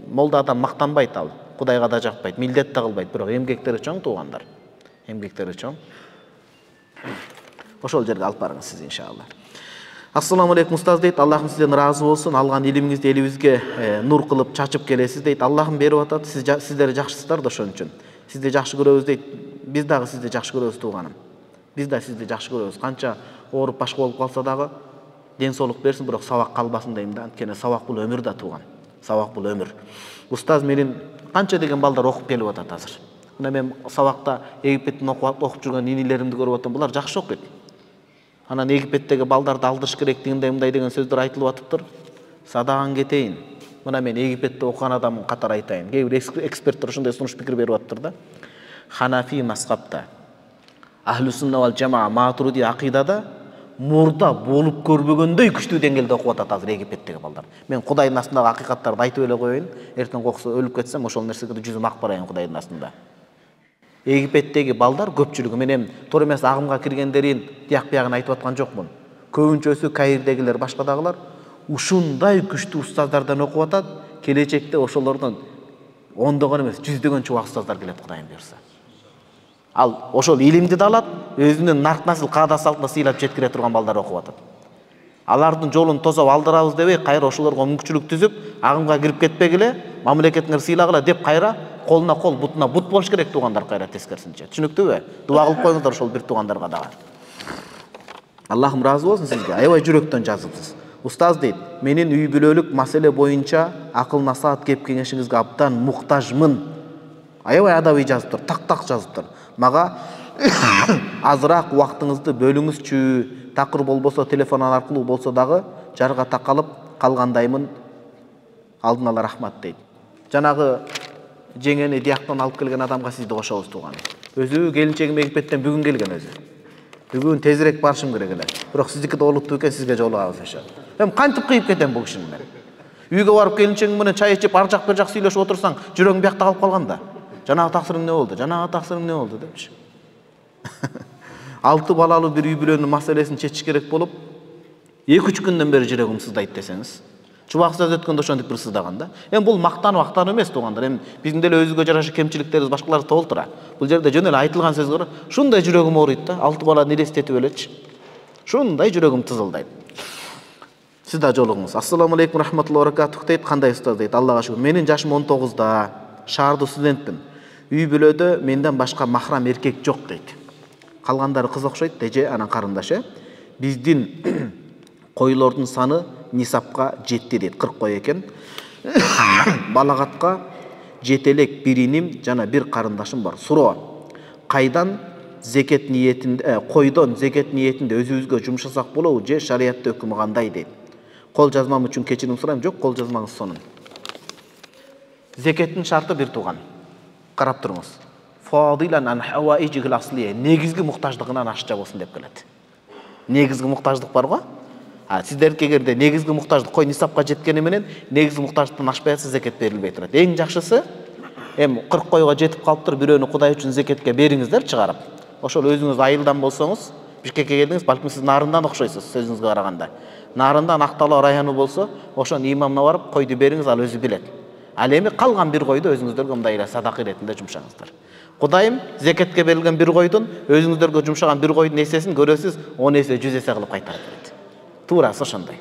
Молда адам мактанбайт, ал Кудайга да жакпайт, милдет да кылбайт, бирок эмгектери чоң туугандар. Эмгектери чоң. Ошол жерге алып барыңыз сиз иншалла. Ассаламу алейкум устаз дейт, Аллахым сизден разы болсун, алган илимиңизди элибизге нур кылып чачып келесиз дейт. Аллахым берип атат, сиздер жакшысыздар да ошон үчүн. Сизди жакшы көрөбүз дейт. Биз дагы сизди жакшы көрөбүз тууганым. Биз да сизди жакшы көрөбүз. Канча ооруп башка болуп калса дагы ден соолук берсин, бирок сабак калбасын дейм да. Анткени сабак бул өмүр да тууган. Сабак бул өмүр. Устаз, менин канча деген балдар окуп келип атат азыр. Мына мен сабакта Египеттин окуп жүргөн инилеримди көрүп атам. Булар жакшы окуйт. Анан Египеттеги балдарды алдырыш керек дегендей мындай деген сөздөр айтылып атыптыр. Садаган кетейин. Мына мен Египетте окуган адам катары айтайын. Кээ бир эксперттер ушундай сунуш пикир берип атыптыр да. Ханафи мазхабта, Ахлу сунна вал жамаа Матуриди акыйдада мурда болуп көрбөгөндөй күчтүү деңгээлде окуп атат азыр Египеттеги балдар. Мен Кудайдын астындагы акыйкаттарды айтып эле коеюн. Эртең окуса өлүп кетсем, ошол нерсеге жүзүм ак барайын Кудайдын астында. Египеттеги балдар көпчүлүгү, мен эми туура эмес агымга киргендерин тияк биягын айтып аткан жокмун. Көбүнчөсү Каирдегилер, башкадагылар ушундай күчтүү устаздардан окуп атат. Келечекте ошолордон ондогон эмес, жүздөгөн чубак устаздар келет, Кудайым буйрса. Ал ошол илимди да алат, өзүнүн нарт-насыл каада салтына сыйлап жеткире турган балдар окуп атат. Алардын жолун тосоп алдырабыз дебей, кайра ошолорго мүмкүнчүлүк түзүп, агымга кирип кетпегиле, мамлекетиңер сыйлагыла деп кайра колуна кол, бутуна бут болуш керек туугандар, кайра тескерисинче. Түшүнүктүүбү? Дуа кылып коюңуздар ошол бир туугандарга дагы. Аллахым разы болсун сизге. Аябай жүрөктөн жазыпсыз. Устаз дейт, менин үй бүлөлүк маселе боюнча акыл насаат кеп кеңешиңизге абдан муктажмын. Аябай адабий жазыптыр, так жазыптыр. Мага азыраак убактыңызды бөлүңүзчү. Такыр болбосо телефон аркылуу болсо дагы жарга такалып калгандаймын. Алдын ала рахмат дейт. Жанагы жеңени дияктан алып келген адамга сизди кошобуз тууган. Өзү келинчегим Египеттен бүгүн келген өзү. Бүгүн тезирээк барышым керек эле. Бирок сиздики да олуттуу экен, сизге жолугабыз ошо. Эми кантип кыйып кетем бул кишини мен? Үйгө барып келинчегиң менен чай ичип, ар жак бир жак сүйлөшүп отурсаң, жүрөгүң биякта калып калганда. Жанагы таксырың эмне болду? Жанагы таксырың эмне болду депчи. 6 балалуу бир үй бүлөнүн маселесин чечиш керек болуп, 2-3 күндөн бери жүрөгүм сыздайт десеңиз. Чубак сөз өткөндө ошентип бир сыздаган да. Эми бул мактануу эмес туугандар. Эми биздин деле өзүгө жараша кемчиликтерибиз башкаларды толтура. Бул жерде жөн эле айтылган сөз бар. Шундай жүрөгүм ооруйт да, 6 баланы элестетип элечи. Шундай жүрөгүм тызылдайт. Сиз да жолугуңуз. Ассаламу алейкум рахматуллахи ва баракатух дейт. Кандай устаз дейт. Аллага шүгүр. Менин жашым 19да. Шаардуу студентмин. Үй бүлөдө менден башка махрам эркек жок дейт. Калгандары кыз окшойт деже анан карындашы. Биздин койлордун саны нисапка жетти дейт. 40 кой экен. Балагатка жете элек бир иним жана бир карындашым бар. Суроо. Кайдан зекет ниетинде, койдон зекет ниетинде өзүбүзгө жумшасак болобу же шариятта өкүмү кандай дейт. Кол жазмам үчүн кечирим сурайм. Жок, кол жазмаңыз сонун. Зекеттин шарты бир тууган. Карап туруңуз. Фадилан ан хаваижил аслия. Негизги муктаждыгынан ашча болсун деп келет. Негизги муктаждык бар го? Сиздерге эгерде негизги муктаждык кой нисапка жеткени менен негизги муктаждыктан ашпай атса зекет берилбей турат. Эң жакшысы эми 40 койго жетип калыптыр, бирөөнү Кудай үчүн зекетке бериңиздер чыгарып. Ошол өзүңүз айылдан болсоңуз, Бишкекке келдиңиз, балким сиз Нарындан окшойсуз сөзүңүзгө караганда. Нарындан Актала району болсо, ошонун имамына барып койду бериңиз, ал өзү билет. Ал эми калган бир койду өзүңүздөргө мындай эле садака иретинде жумшаңыздар. Кудайым зекетке берилген бир койдун өзүңүздөргө жумшаган бир койдун эсесин көрөсүз, 10 эсе, 100 эсе кылып кайтарып берет. Туурасы ошондой.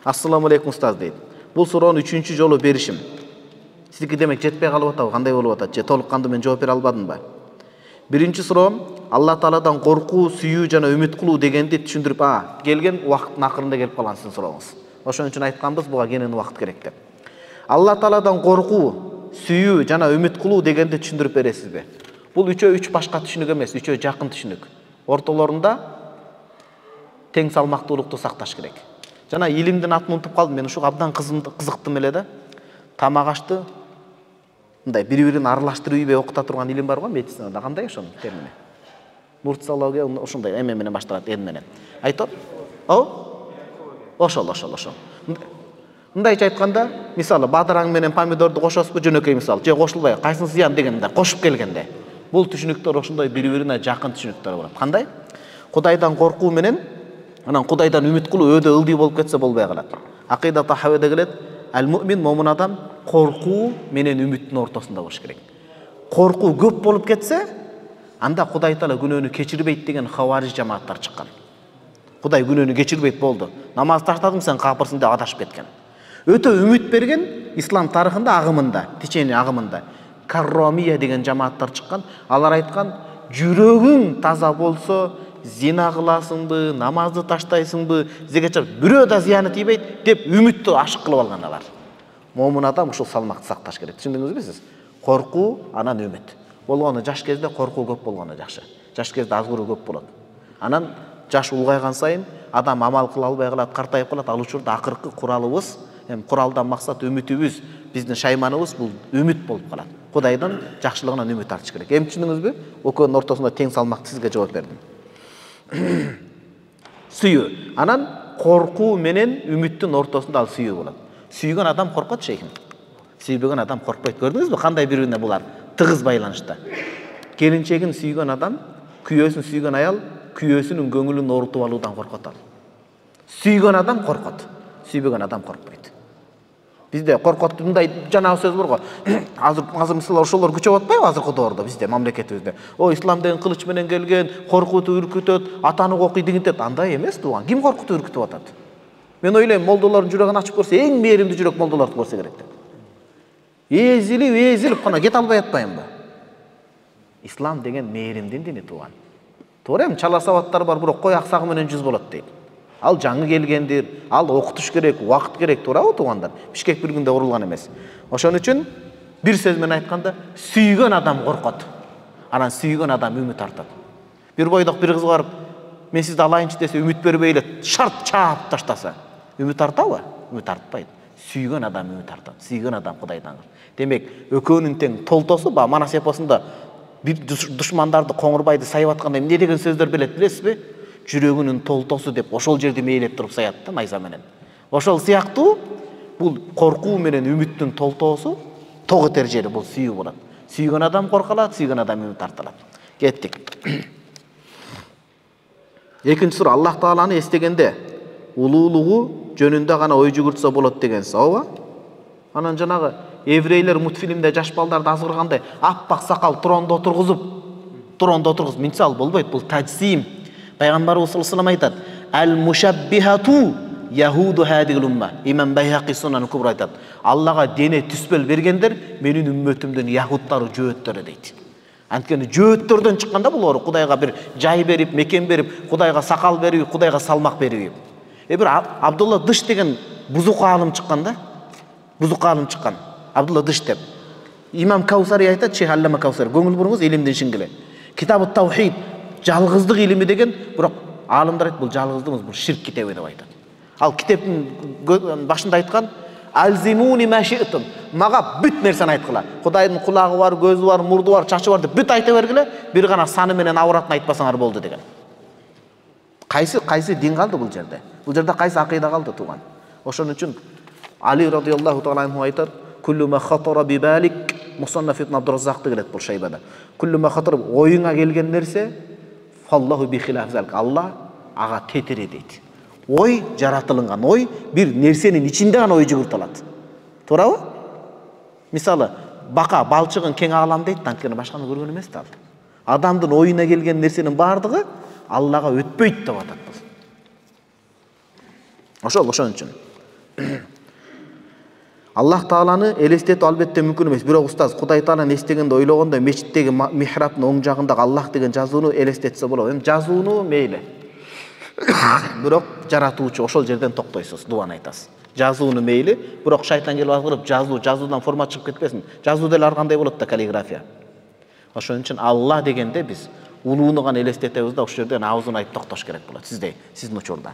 Ассаламу алейкум устаз дейт. Бул суроону 3-чү жолу беришим. Сиздики демек жетпей калып атабы, кандай болуп атат? Же толук кандуу мен жооп бере албадымбы? Биринчи суроом Алла Тааладан коркуу, сүйүү жана үмүт кылуу дегенди түшүндүрүп, келген убакыттын акырында келип калган сиздин сурооңуз. Ошон үчүн айтканбыз, буга кенен убакыт керек деп. Алла Тааладан коркуу, сүйүү жана үмүт кылуу дегенди түшүндүрүп бересизби? Бул үчөө үч башка түшүнүк эмес, үчөө жакын түшүнүк. Ортолорунда тең салмактуулукту сакташ керек. Жана илимдин атын унутуп калдым, мен ушуга абдан кызыктым эле да. Тамак ашты мындай бири-бирин аралаштырып ийбей окута турган илим бар го медицинада, кандай ошонун термини? Нурциология ошондой эме менен башталат, эн менен. Айтып? Ошол. Мындайча айтканда, мисалы бадыраң менен помидорду кошосузбу, жөнөкөй мисал, же кошулбай, кайсынысы зыян дегенде кошуп келгенде. Бул түшүнүктөр ошондой бири-бирине жакын түшүнүктөр болот. Кандай? Кудайдан коркуу менен анан Кудайдан үмүт кылуу өдө ылдый болуп кетсе болбой калат. Акыйда Тахавиде келет, ал-муъмин момун адам коркуу менен үмүттүн ортосунда болуш керек. Коркуу көп болуп кетсе, анда Кудай Таала күнөөнү кечирбейт деген хавариж жамааттар чыккан. Кудай күнөөнү кечирбейт болду. Намаз таштадың сен капырсың деп адашып кеткен. Өтө үмүт берген ислам тарыхында агымында, течени агымында карромия деген жамааттар чыккан. Алар айткан, жүрөгүң таза болсо, зина кыласыңбы, намазды таштайсыңбы, зекет чыгып, бирөө да зыяны тийбейт деп үмүттү ашык кылып алган алар. Момун адам ушул салмакты сакташ керек. Түшүндүңүзбү сиз? Коркуу, анан үмүт. Болгону жаш кезде коркуу көп болгону жакшы. Жаш кезде азгыруу көп болот. Анан жаш улгайган сайын адам амал кыла албай калат, картайып калат. Ал учурда акыркы куралыбыз, куралдан максат үмүтүбүз, биздин шайманыбыз бул үмүт болуп калат. Кудайдан жакшылыгынан үмүт артыш керек. Эми түшүндүңүзбү? Экөөнүн ортосунда тең салмакты сизге жооп бердим. Сүйүү. Анан коркуу менен үмүттүн ортосунда ал сүйүү болот. Сүйгөн адам коркот шейхим. Сүйбөгөн адам коркпойт. Көрдүңүзбү кандай бири-бирине булар тыгыз байланышта. Келинчегин сүйгөн адам, күйөөсүн сүйгөн аял күйөөсүнүн көңүлүн оорутуп алуудан коркот ал. Сүйгөн адам коркот. Сүйбөгөн адам коркпойт. Бизде коркот мындай жанагы сөз бар го. Азыр мисалы ошолор күчөп атпайбы азыркы доордо бизде, мамлекетибизде. Ислам деген кылыч менен келген, коркутуп үркүтөт, атаны окуй дигинтет. Андай эмес тууган. Ким коркутуп үркүтүп атат? Мен ойлойм, молдолордун жүрөгүн ачып көрсө, эң мээримдүү жүрөк молдолордуку болсо керек деп. Эзилип кана кете албай атпайбы? Ислам деген мээримдин дини тууган. Туура эми чала сабаттар бар, бирок кой аксагы менен жүз болот дейт. Ал жаңы келгендир, ал окутуш керек, убакыт керек, туурабы туугандар? Бишкек бир күндө курулган эмес. Ошон үчүн бир сөз менен айтканда, сүйгөн адам коркот. Анан сүйгөн адам үмүт артат. Бир бойдок бир кыз барып, мен сизди алайынчы десе, үмүт бербей эле шарт чаап таштаса, үмүт артабы? Үмүт артпайт. Сүйгөн адам үмүт артат. Сүйгөн адам Кудайдан. Демек, экөөнүн тең толтосу ба Манас эпосунда бир душмандарды, коңурбайды сайып атканда эмне деген сөздөр билесизби? Жүрөгүнүн толтосу деп ошол жерди мээлеп туруп саят да найза менен. Ошол сыяктуу бул коркуу менен үмүттүн толтоосу тог этер жери бул сүйүү болот. Сүйгөн адам коркалат, сүйгөн адам үмүт арталат. Кеттик. Экинчи суроо Аллах Тааланы эстегенде улуулугу жөнүндө гана ой жүгүртсө болот дегенсиз, ооба? Анан жанагы еврейлер мультфильмде жаш балдарды азгыргандай аппак сакал трондо отургузуп мисал болбойт, бул таджсим. Пайгамбарыбыз саллаллаху алейхи айтат: "Ал-мушаббихату яхуду хадил умма". Имам Байхақи Сунан Кубра айтат: Аллага дене түспөл бергендер менин үммөтүмдүн яхуттары, жөөттөрү дейт. Анткени жөөттөрдөн чыкканда булар Кудайга бир жай берип, мекен берип, Кудайга сакал берип, Кудайга салмак берип. Бир Абдулла Дыш деген бузук алым чыкканда, Абдулла Дыш деп. Имам Каусари айтат, Шейх Аллама Каусари, көңүл буруңуз илимдин шингиле. Китабы Таухид, жалгыздык илими деген, бирок алымдар айтат, бул жалгыздык эмес, бул ширк китеби деп айтат. Ал китептин башында айткан: "Алзимуни маши'тум". Мага бүт нерсени айткыла. Кудайдын кулагы бар, көзү бар, мурду бар, чачы бар деп бүт айта бергиле, бир гана саны менен авратын айтпасаңар болду деген. Кайсы дин калды бул жерде? Бул жерде кайсы акыйда калды туган? Ошон үчүн Али радиаллаху таала анху айтат: "Куллу ма хатара би балик", Мусаннаф ибн Абдурраззакты келет бул шайбада. "Куллу ма хатара", оюңа келген нерсе, "Фаллаху би хилаф залик", Алла ага тетири дейт. Ой, жаратылынган ой бир нерсенин ичинде гана ой жүгүртүлөт. Туурабы? Мисалы, бака балчыгын кең алам дейт, анткени башканы көргөн эмес да ал. Адамдын оюна келген нерсенин бардыгы Аллага өтпөйт деп атат. Ошон үчүн Аллах Тааланы элестетүү албетте мүмкүн эмес. Бирок устаз Кудай Тааланы эстегенде ойлогондо мечиттеги михрабтын оң жагындагы Аллах деген жазууну элестетсе болот. Эми жазууну мейли. Бирок жаратуучу ошол жерден токтойсуз, дуаны айтасыз. Жазууну мейли, бирок шайтан келип азгырып, жазуудан форма чыгып кетпесин. Жазуу деле ар кандай болот да, каллиграфия. Ошон үчүн Алла дегенде биз улууну гана элестетебиз да, ошол жерден аузун айтып токтош керек болот сиздин учурда.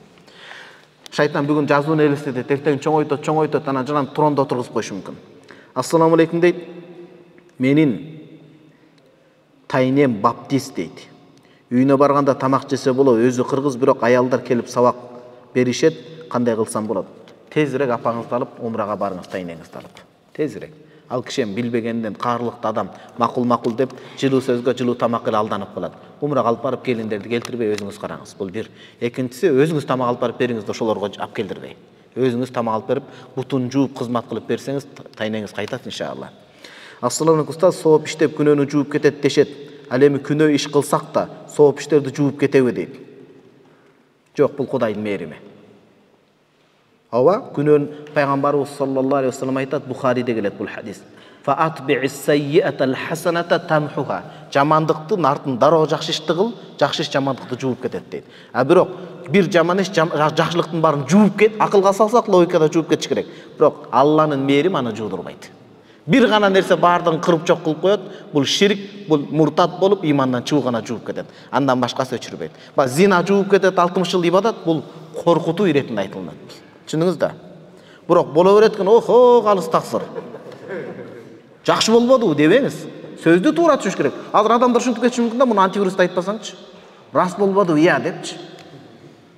Шайтан бүгүн жазууну элестетет, эртең чоңойтот, анан жанан трондо отургузуп коюшу мүмкүн. Ассаламу алейкум дейт. Менин тайнем баптист дейт. Үйүнө барганда тамак жесе болот, өзү кыргыз, бирок аялдар келип сабак беришет, кандай кылсам болот? Тезирээк апаңызды алып умрага барыңыз, тайнеңизди алып. Тезирээк. Ал киши билбегенден каарлыктуу адам, макул деп жылуу сөзгө жылуу тамак эле алданып калат. Умрага алып барып келиндерди келтирбей өзүңүз караңыз. Бул бир. Экинчиси, өзүңүз тамак алып барып бериңиз да ошолорго алып келдирбей. Өзүңүз тамак алып берип, бутун жууп кызмат кылып берсеңиз, тайнеңиз кайтат иншалла. Ассаламу алейкум устаз, сооп иштеп күнөөнү жууп кетет дешет. Ал эми күнөө иш кылсак да сооп иштерди жууп кетеби дейт. Жок, бул Кудайдын мээрими. Ооба, күнөөн пайгамбарыбыз саллаллаху алейхи вассалам айтат, Бухариде келет бул хадис. Фаатби'ис саййиатал хасаната тамхуха. Жамандыктын артын дароо жакшы ишти кыл, жакшы иш жамандыкты жууп кетет дейт. А бирок бир жаман иш жакшылыктын баарын жууп кет, акылга салсак логикада жууп кетиш керек. Бирок Алланын мээрими аны жуудурбайт. Бир гана нерсе баардыгын кырып жок кылып коет, бул ширк, бул муртат болуп имандан чыгуу гана жууп кетет. Андан башкасы өчүрбөйт. Зина жууп кетет, 60 жыл ибадат, бул коркутуу иретинде айтылат. Түшүндүңүз да? Бирок боло берет экен, охо, калыс таксыр. Жакшы болбодубу дебеңиз. Сөздү туура түшүш керек. Азыр адамдар ушинтип кетиши мүмкүн да, муну антивирусты айтпасаңчы. Рас болбодубу, ия депчи.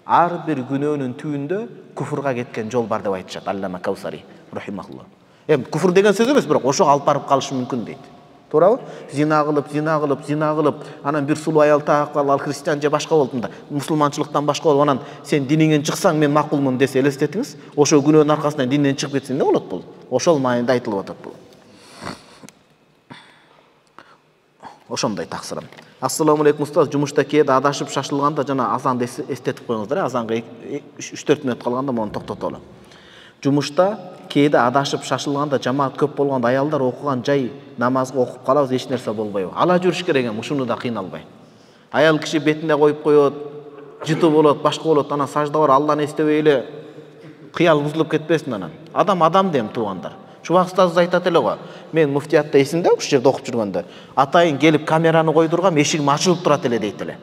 Ар бир күнөөнүн түбүндө куфурга кеткен жол бар деп айтышат Аллама Каусари рахимахуллах. Эми куфур деген сөз эмес, бирок ошого алып барып калышы мүмкүн дейт. Туурабы? Зина кылып, анан бир сулуу аял таап калып, ал христиан же башка болду да, мусулманчылыктан башка болуп, анан сен диниңен чыксаң мен макулмун десе элестетиңиз, ошо күнөөнүн аркасынан динден чыгып кетсе эмне болот бул? Ошол маанайда айтылып атат бул. Ошондой таксырым. Ассаламу алейкум устаз, жумушта кээде адашып шашылганда жана азанды эстетип коюңуздар. Азанга 3-4 мүнөт калганда муну токтотолу. Жумушта кээде адашып шашылганда жамаат көп болгондо аялдар окуган жай намазга окуп калабыз, эч нерсе болбойбу? Ала жүрүш керек эми, ушуну да кыйналбай. Аял киши бетине коюп коет, жыту болот, башка болот, анан сажда бар, Алланы эстебей эле кыял бузулуп кетпесин анан. Адам дем туугандар. Чубак устазыбыз айтат эле го. Мен муфтиятта эсимде, ушул жерде окуп жүргөндө, атайын келип камераны койдургам, эшигим ачылып турат эле дейт эле.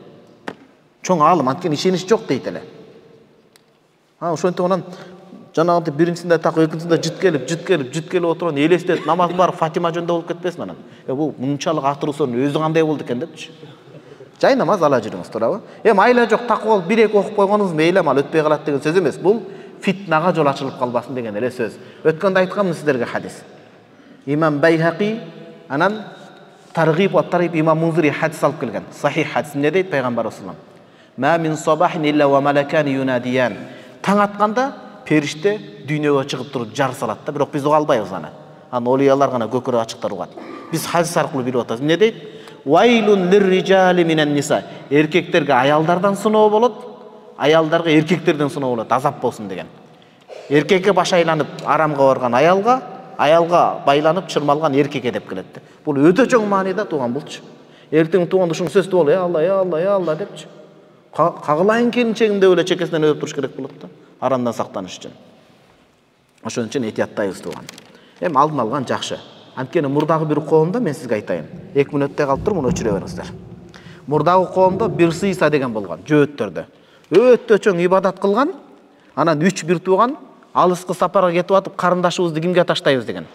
Чоң алым, анткени ишенич жок дейт эле. Ошентип анан жанагынтип биринчисинде так, экинчисинде жыт келип отурган, элестет, намаз бар, Фатима жөнүндө болуп кетпесин анан. Бул мынчалык атыруусунун өзү кандай болду экен депчи. Жай намаз ала жүрүңүз, туурабы? Эми айла жок, такып алып 1-2 окуп койгонуңуз мейли, ал өтпөй калат деген сөз эмес. Бул фитнага жол ачылып калбасын деген эле сөз. Өткөндө айтканмын сиздерге хадис. Имам Байхақи анан Таргиб ва Тариб имам Мунзири хадис алып келген. Сахих хадис. Эмне дейт пайгамбар саллаллаху алейхи вассалам? Ма мин сабахин илля ва малакани юнадиян. Таң атканда периште дүйнөгө чыгып туруп жар салат да, бирок биз уга албайбыз аны. Аны олиялар гана көкөрө ачыктар угат. Биз хадис аркылуу билип атабыз. Эмне дейт? Вайлун лирриджали минен ниса. Эркектерге аялдардан сыноо болот, аялдарга эркектерден сыноо болот, азап болсун деген. Эркекке баш айланып арамга барган аялга байланып чырмалган эркекке деп келет. Бул өтө чоң мааниде тууган булчу. Эртең тууганда ушуну сөздү бол, Алла депчи. Кагылайын келинчегим деп эле чекесинен өбүп туруш керек болот да, арамдан сактаныш үчүн. Ошон үчүн этияттайбыз тууган. Эми алдын алган жакшы. Анткени мурдагы бир коомдо мен сизге айтайын. 2 мүнөттө калып туруп муну өчүрө бериңиздер. Мурдагы коомдо бир сыйса деген болгон, жөөттөрдө. Өтө чоң ибадат кылган, анан 3 бир тууган алыскы сапарга кетип атып, карындашыбызды кимге таштайбыз деген.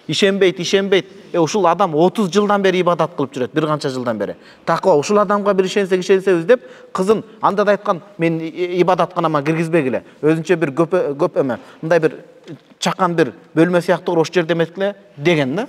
Ишенбейт. Ушул адам 30 жылдан бери ибадат кылып жүрөт, бир канча жылдан бери. Таква ушул адамга бир ишенсебиз деп, кызын анда да айткан, мен ибадатканама киргизбегиле. Өзүнчө бир көп эме, мындай бир чакан бир бөлмө сыяктуу ошол жерде эметкиле деген да.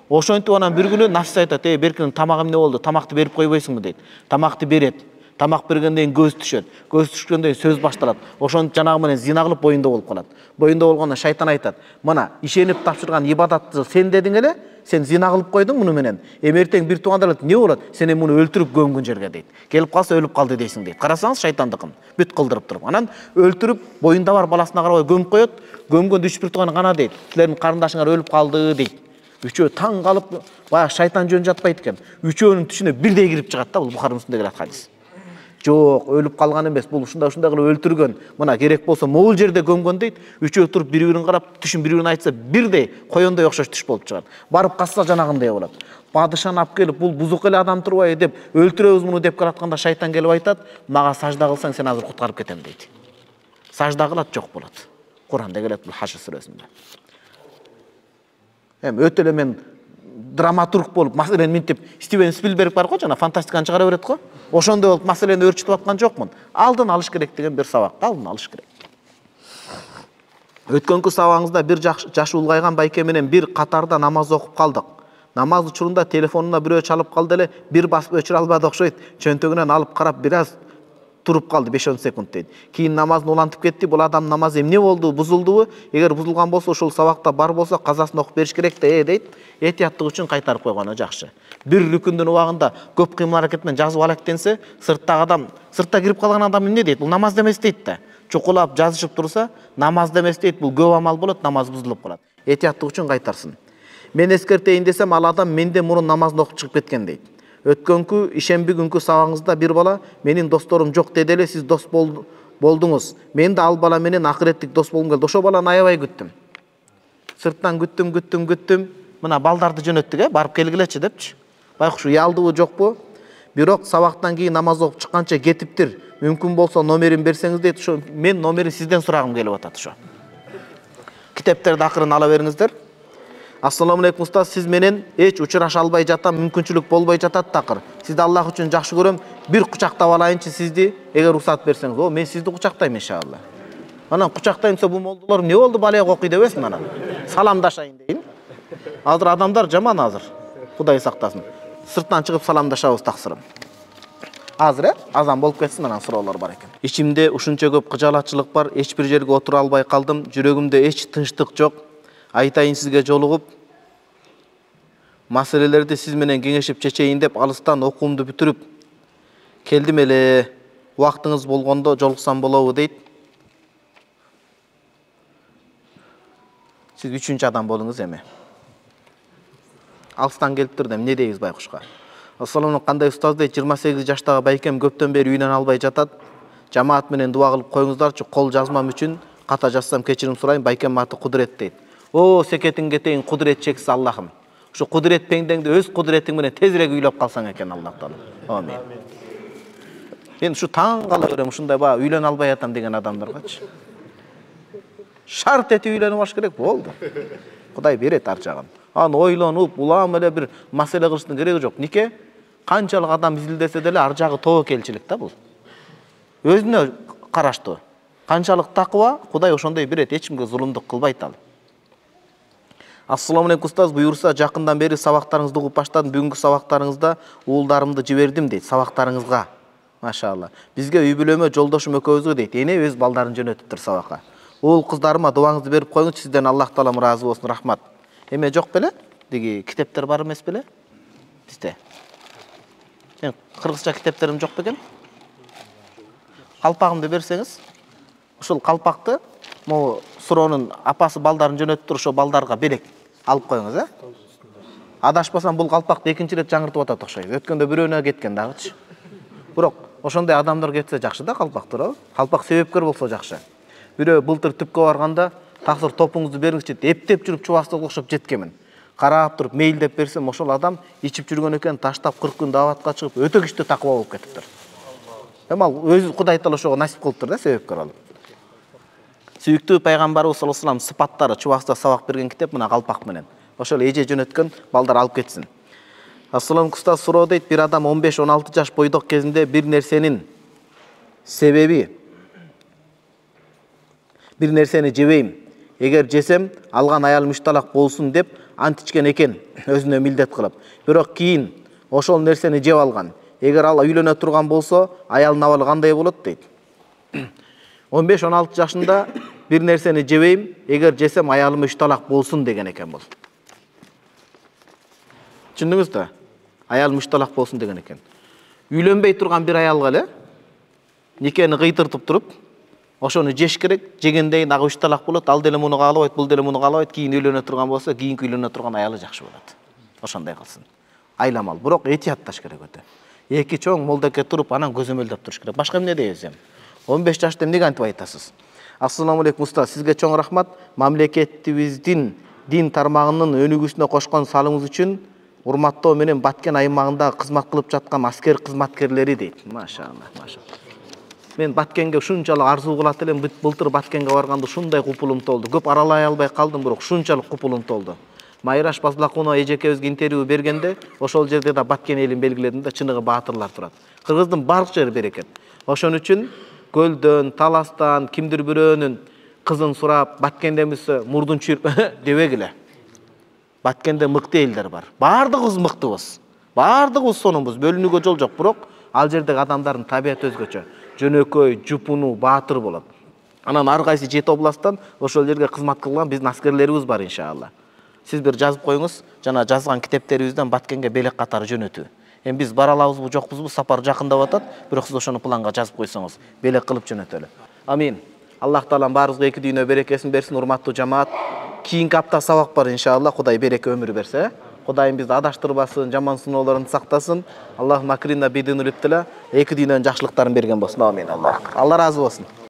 Ошентип анан бир күнү нафис айтат, беркин тамак эмне болду? Тамакты берип койбойсуңбу дейт. Тамакты берет. Тамак бергенден көз түшөт. Көз түшкөндөн сөз башталат. Ошону жанагы менен зина кылып боюнда болуп калат. Боюнда болгондо шайтан айтат: "Мына, ишенип тапшырган ибадатты сен дедиң эле, сен зина кылып койдуң муну менен. Эмертең бир туугандар эмне болот? Сен муну өлтүрүп көмгүн жерге" дейт. Келип калса өлүп калды дейсиң дейт. Карасаңыз шайтандыкын бүт кылдырып туруп. Анан өлтүрүп боюнда бар баласына карабай көмүп коет. Көмгөндө 3 бир тууган гана дейт. Силердин карындашыңар өлүп калды дейт. Үчөө таң калып, баягы шайтан жөн жатпайт экен. Үчөөнүн түшүнө бирдей кирип чыгат да, бул Бухари Муслимде келет хадис. Жок, өлүп калган эмес, бул ушундай кылып өлтүргөн. Мына керек болсо могул жерде көмгөн дейт. Үчөө туруп бири-бирин карап, түшүн бири-бирин айтса, бирдей коёндой окшош түш болуп чыгат. Барып касса жанагындай болот. Падышаны алып келип, бул бузук эле адам турбайбы деп, өлтүрөбүз муну деп келатканда шайтан келип айтат: "Мага сажда кылсаң, сен азыр куткарып кетем" дейт. Сажда кылат, жок болот. Куранда келет бул Хашр сүрөсүндө. Эми өтө эле мен драматург болуп, маселени минтип, Стивен Спилберг бар го, жана фантастиканы чыгара берет го. Ошондой болуп маселени өрчүтүп аткан жокмун. Алдын алыш керек деген бир сабак, алдын алыш керек. Өткөнкү сабагыңызда бир жашы улгайган байке менен бир катарда намаз окуп калдык. Намаз учурунда телефонуна бирөө чалып калды эле, бир басып өчүрө албады окшойт. Чөнтөгүнөн алып карап бир аз туруп калды, 5-10 секунд дейт. Кийин намазын улантып кетти. Бул адам намаз эмне болду, бузулдубу? Эгер бузулган болсо, ошол сабакта бар болсо, казасын окуп бериш керек да, дейт. Этияттык үчүн кайтарып койгону жакшы. Бир рүкүндүн убагында көп кыймыл аракет менен жазып алектенсе, сыртта кирип калган адам эмне дейт? Бул намаз демес дейт да. Чукулап жазышып турса, намаз демес дейт. Бул көп амал болот, намаз бузулуп калат. Этияттык үчүн кайтарсын. Мен эскертейин десем, ал адам менден мурун намазын окуп чыгып кеткен дейт. Өткөнкү ишемби күнкү сабагыңызда бир бала менин досторум жок деди эле, сиз дос болдуңуз. Мен да ал бала менен акыреттик дос болгум келди. Ошо баланы аябай күттүм. Сырттан күттүм. Мына балдарды жөнөттүк, барып келгилечи депчи. Байкуш уялдыбы жокпу? Бирок сабактан кийин намаз окуп чыкканча кетиптир. Мүмкүн болсо номерин берсеңиз дейт. Ошо мен номерин сизден сурагым келип атат ошо. Китептерди акырын ала бериңиздер. Ассаламу алейкум устаз, сиз менен эч учураша албай жатам, мүмкүнчүлүк болбой жатат такыр. Сизди Аллах үчүн жакшы көрөм. Бир кучактап алайынчы сизди, эгер уруксат берсеңиз. О, мен сизди кучактайм иншалла. Анан кучактайынса бул молдолор эмне болду, балек окуй дебесин анан. Саламдашайын дейин. Азыр адамдар жаман азыр. Кудай сактасын. Сырттан чыгып саламдашабыз таксырым. Азыр азан болуп кетсин, анан суроолор бар экен. Ичимде ушунча көп кыжалатчылык бар, эч бир жерге отура албай калдым. Жүрөгүмдө эч тынчтык жок. Айтайын сизге жолугуп, маселелерди сиз менен кеңешип чечейин деп алыстан окуумду бүтүрүп келдим эле. Убактыңыз болгондо жолуксам болобу дейт. Сиз 3-чү адам болуңуз эми. Алыстан келип турдум, эмне дейбиз байкушка? Ассаламу кандай устаз дейт, 28 жаштагы байкем көптөн бери үйүнөн албай жатат. Жамаат менен дуа кылып коюңуздарчы, кол жазмам үчүн ката жазсам кечирим сурайм, байкем аты Кудурет дейт. О, секетиң кетейин, Кудурет чексиз Аллахым. Ушу Кудурет пеңдеңди өз кудуретиң менен тезирээк үйлөп калсаң экен Аллах таала. Амин. Мен ушу таң кала берем, ушундай баа үйлөнө албай атам деген адамдаргачы. Шарт этип үйлөнүп алыш керек болду. Кудай берет ар жагын. Аны ойлонуп, улам эле бир маселе кылыштын кереги жок. Нике? Канчалык адам изилдесе деле ар жагы тобокелчилик да бул. Өзүнө караштуу. Канчалык таква, Кудай ошондой берет, эч кимге зулумдук кылбайт ал. Ассаламу алейкум устаз, буюрса жакындан бери сабактарыңызды угуп баштадым. Бүгүнкү сабактарыңызда уулдарымды жибердим дейт, сабактарыңызга. Машалла. Бизге үй бүлөмө жолдошум экөөбүзгө дейт, энебиз балдарын жөнөтүптүр сабакка. Уул кыздарыма дуаңызды берип коюңуз, сизден Аллах таалам ыраазы болсун, рахмат. Эме жок беле? Диги китептер бар эмес беле? Бизде. Кыргызча китептерим жок бекен? Калпагымды берсеңиз, ушул калпакты могу суроонун апасы балдарын жөнөтүптүр, ошо балдарга белек алып коюңуз, э? Адашпасам бул калпакты экинчи рет жаңыртып атат окшойт. Өткөндө бирөөнө кеткен дагычы. Бирок ошондой адамдар кетсе жакшы да калпак, туурабы? Калпак себепкер болсо жакшы. Бирөө былтыр түпкө барганда таксыр топуңузду бериңизчи деп эптеп жүрүп чубастыкка окшоп жеткенмин. Карап туруп мейлдеп берсем, ошол адам ичип жүргөн экен, таштап 40 күн дааватка чыгып, өтө күчтүү такыба болуп кетиптир. Эми ал өзү Кудай таала ошого насип кылыптыр да, себепкер алып. Сүйүктүү пайгамбарыбыз саллаллаху алейхи вассалам сыпаттары чубакта сабак берген китеп мына калпак менен. Ошол эже жөнөткөн балдар алып кетсин. Ассалам куста суроо дейт, бир адам 15-16 жаш бойдок кезинде бир нерсени жебейм. Эгер жесем, алган аял мушталак болсун деп ант ичкен экен, өзүнө милдет кылып. Бирок кийин ошол нерсени жеп алган. Эгер ал үйлөнө турган болсо, аялдын абалы кандай болот дейт. 15-16 жашында бир нерсени жебейм, эгер жесем аялым мушталак болсун деген экен бул. Түшүндүңүз да? Аял мушталак болсун деген экен. Үйлөнбөй турган бир аялга эле никени кыйтыртып туруп, ошону жеш керек, жегенден ага мушталак болот, ал деле муну каалабайт, бул деле муну каалабайт, кийин үйлөнө турган болсо, кийинки үйлөнө турган аялы жакшы болот. Ошондой кылсын. Айламал, бирок этиятташ керек өтө. Эки чоң молдеке туруп, анан көзөмөлдөп туруш керек. Башка эмне дейбиз эми? 15 жашта эмнеге антип айтасыз? Ассаламу алейкум уста, сизге чоң рахмат. Мамлекетибиздин дин тармагынын өнүгүүсүнө кошкон салымыңыз үчүн урматтоо менен Баткен аймагында кызмат кылып жаткан аскер кызматкерлери дейт. Машалла, машалла. Мен Баткенге ушунчалык арзуу кылат элем, былтыр Баткенге барганда ушундай купулум толду. Көп аралай албай калдым, бирок ушунчалык купулум толду. Майраш Базлакунова эжекебизге интервью бергенде, ошол жерде да Баткен элин белгиледим да, чыныгы баатырлар турат. Кыргыздын бардык жери берекен. Ошон үчүн Көлдөн, Таластан, кимдир бирөөнүн кызын сурап, Баткендемиз мурдун чүйүрүп дебегиле. Баткенде мыкты элдер бар. Бардыгыбыз мыктыбыз. Бардыгыбыз сонунбуз, бөлүнүүгө жол жок, бирок ал жердеги адамдардын табияты өзгөчө. Жөнөкөй, жупунуу, баатыр болот. Анан ар кайсы 7 областтан ошол жерге кызмат кылган биздин аскерлерибиз бар иншалла. Сиз бир жазып коюңуз, жана жазган китептерибизден Баткенге белек катары жөнөтүү. Эми биз бара алабызбы, жокпузбу, сапар жакындап атат, бирок сиз ошону планга жазып койсоңуз, белек кылып жөнөтөлү. Амин. Аллах таалам баарыбызга эки дүйнө берекесин берсин, урматтуу жамаат. Кийинки апта сабак бар иншалла, Кудай береке өмүр берсе. Кудайым бизди адаштырбасын, жаман сыноолордон сактасын. Аллах макрина бидинул иптила, эки дүйнөнүн жакшылыктарын берген болсун. Амин. Алла разы болсун.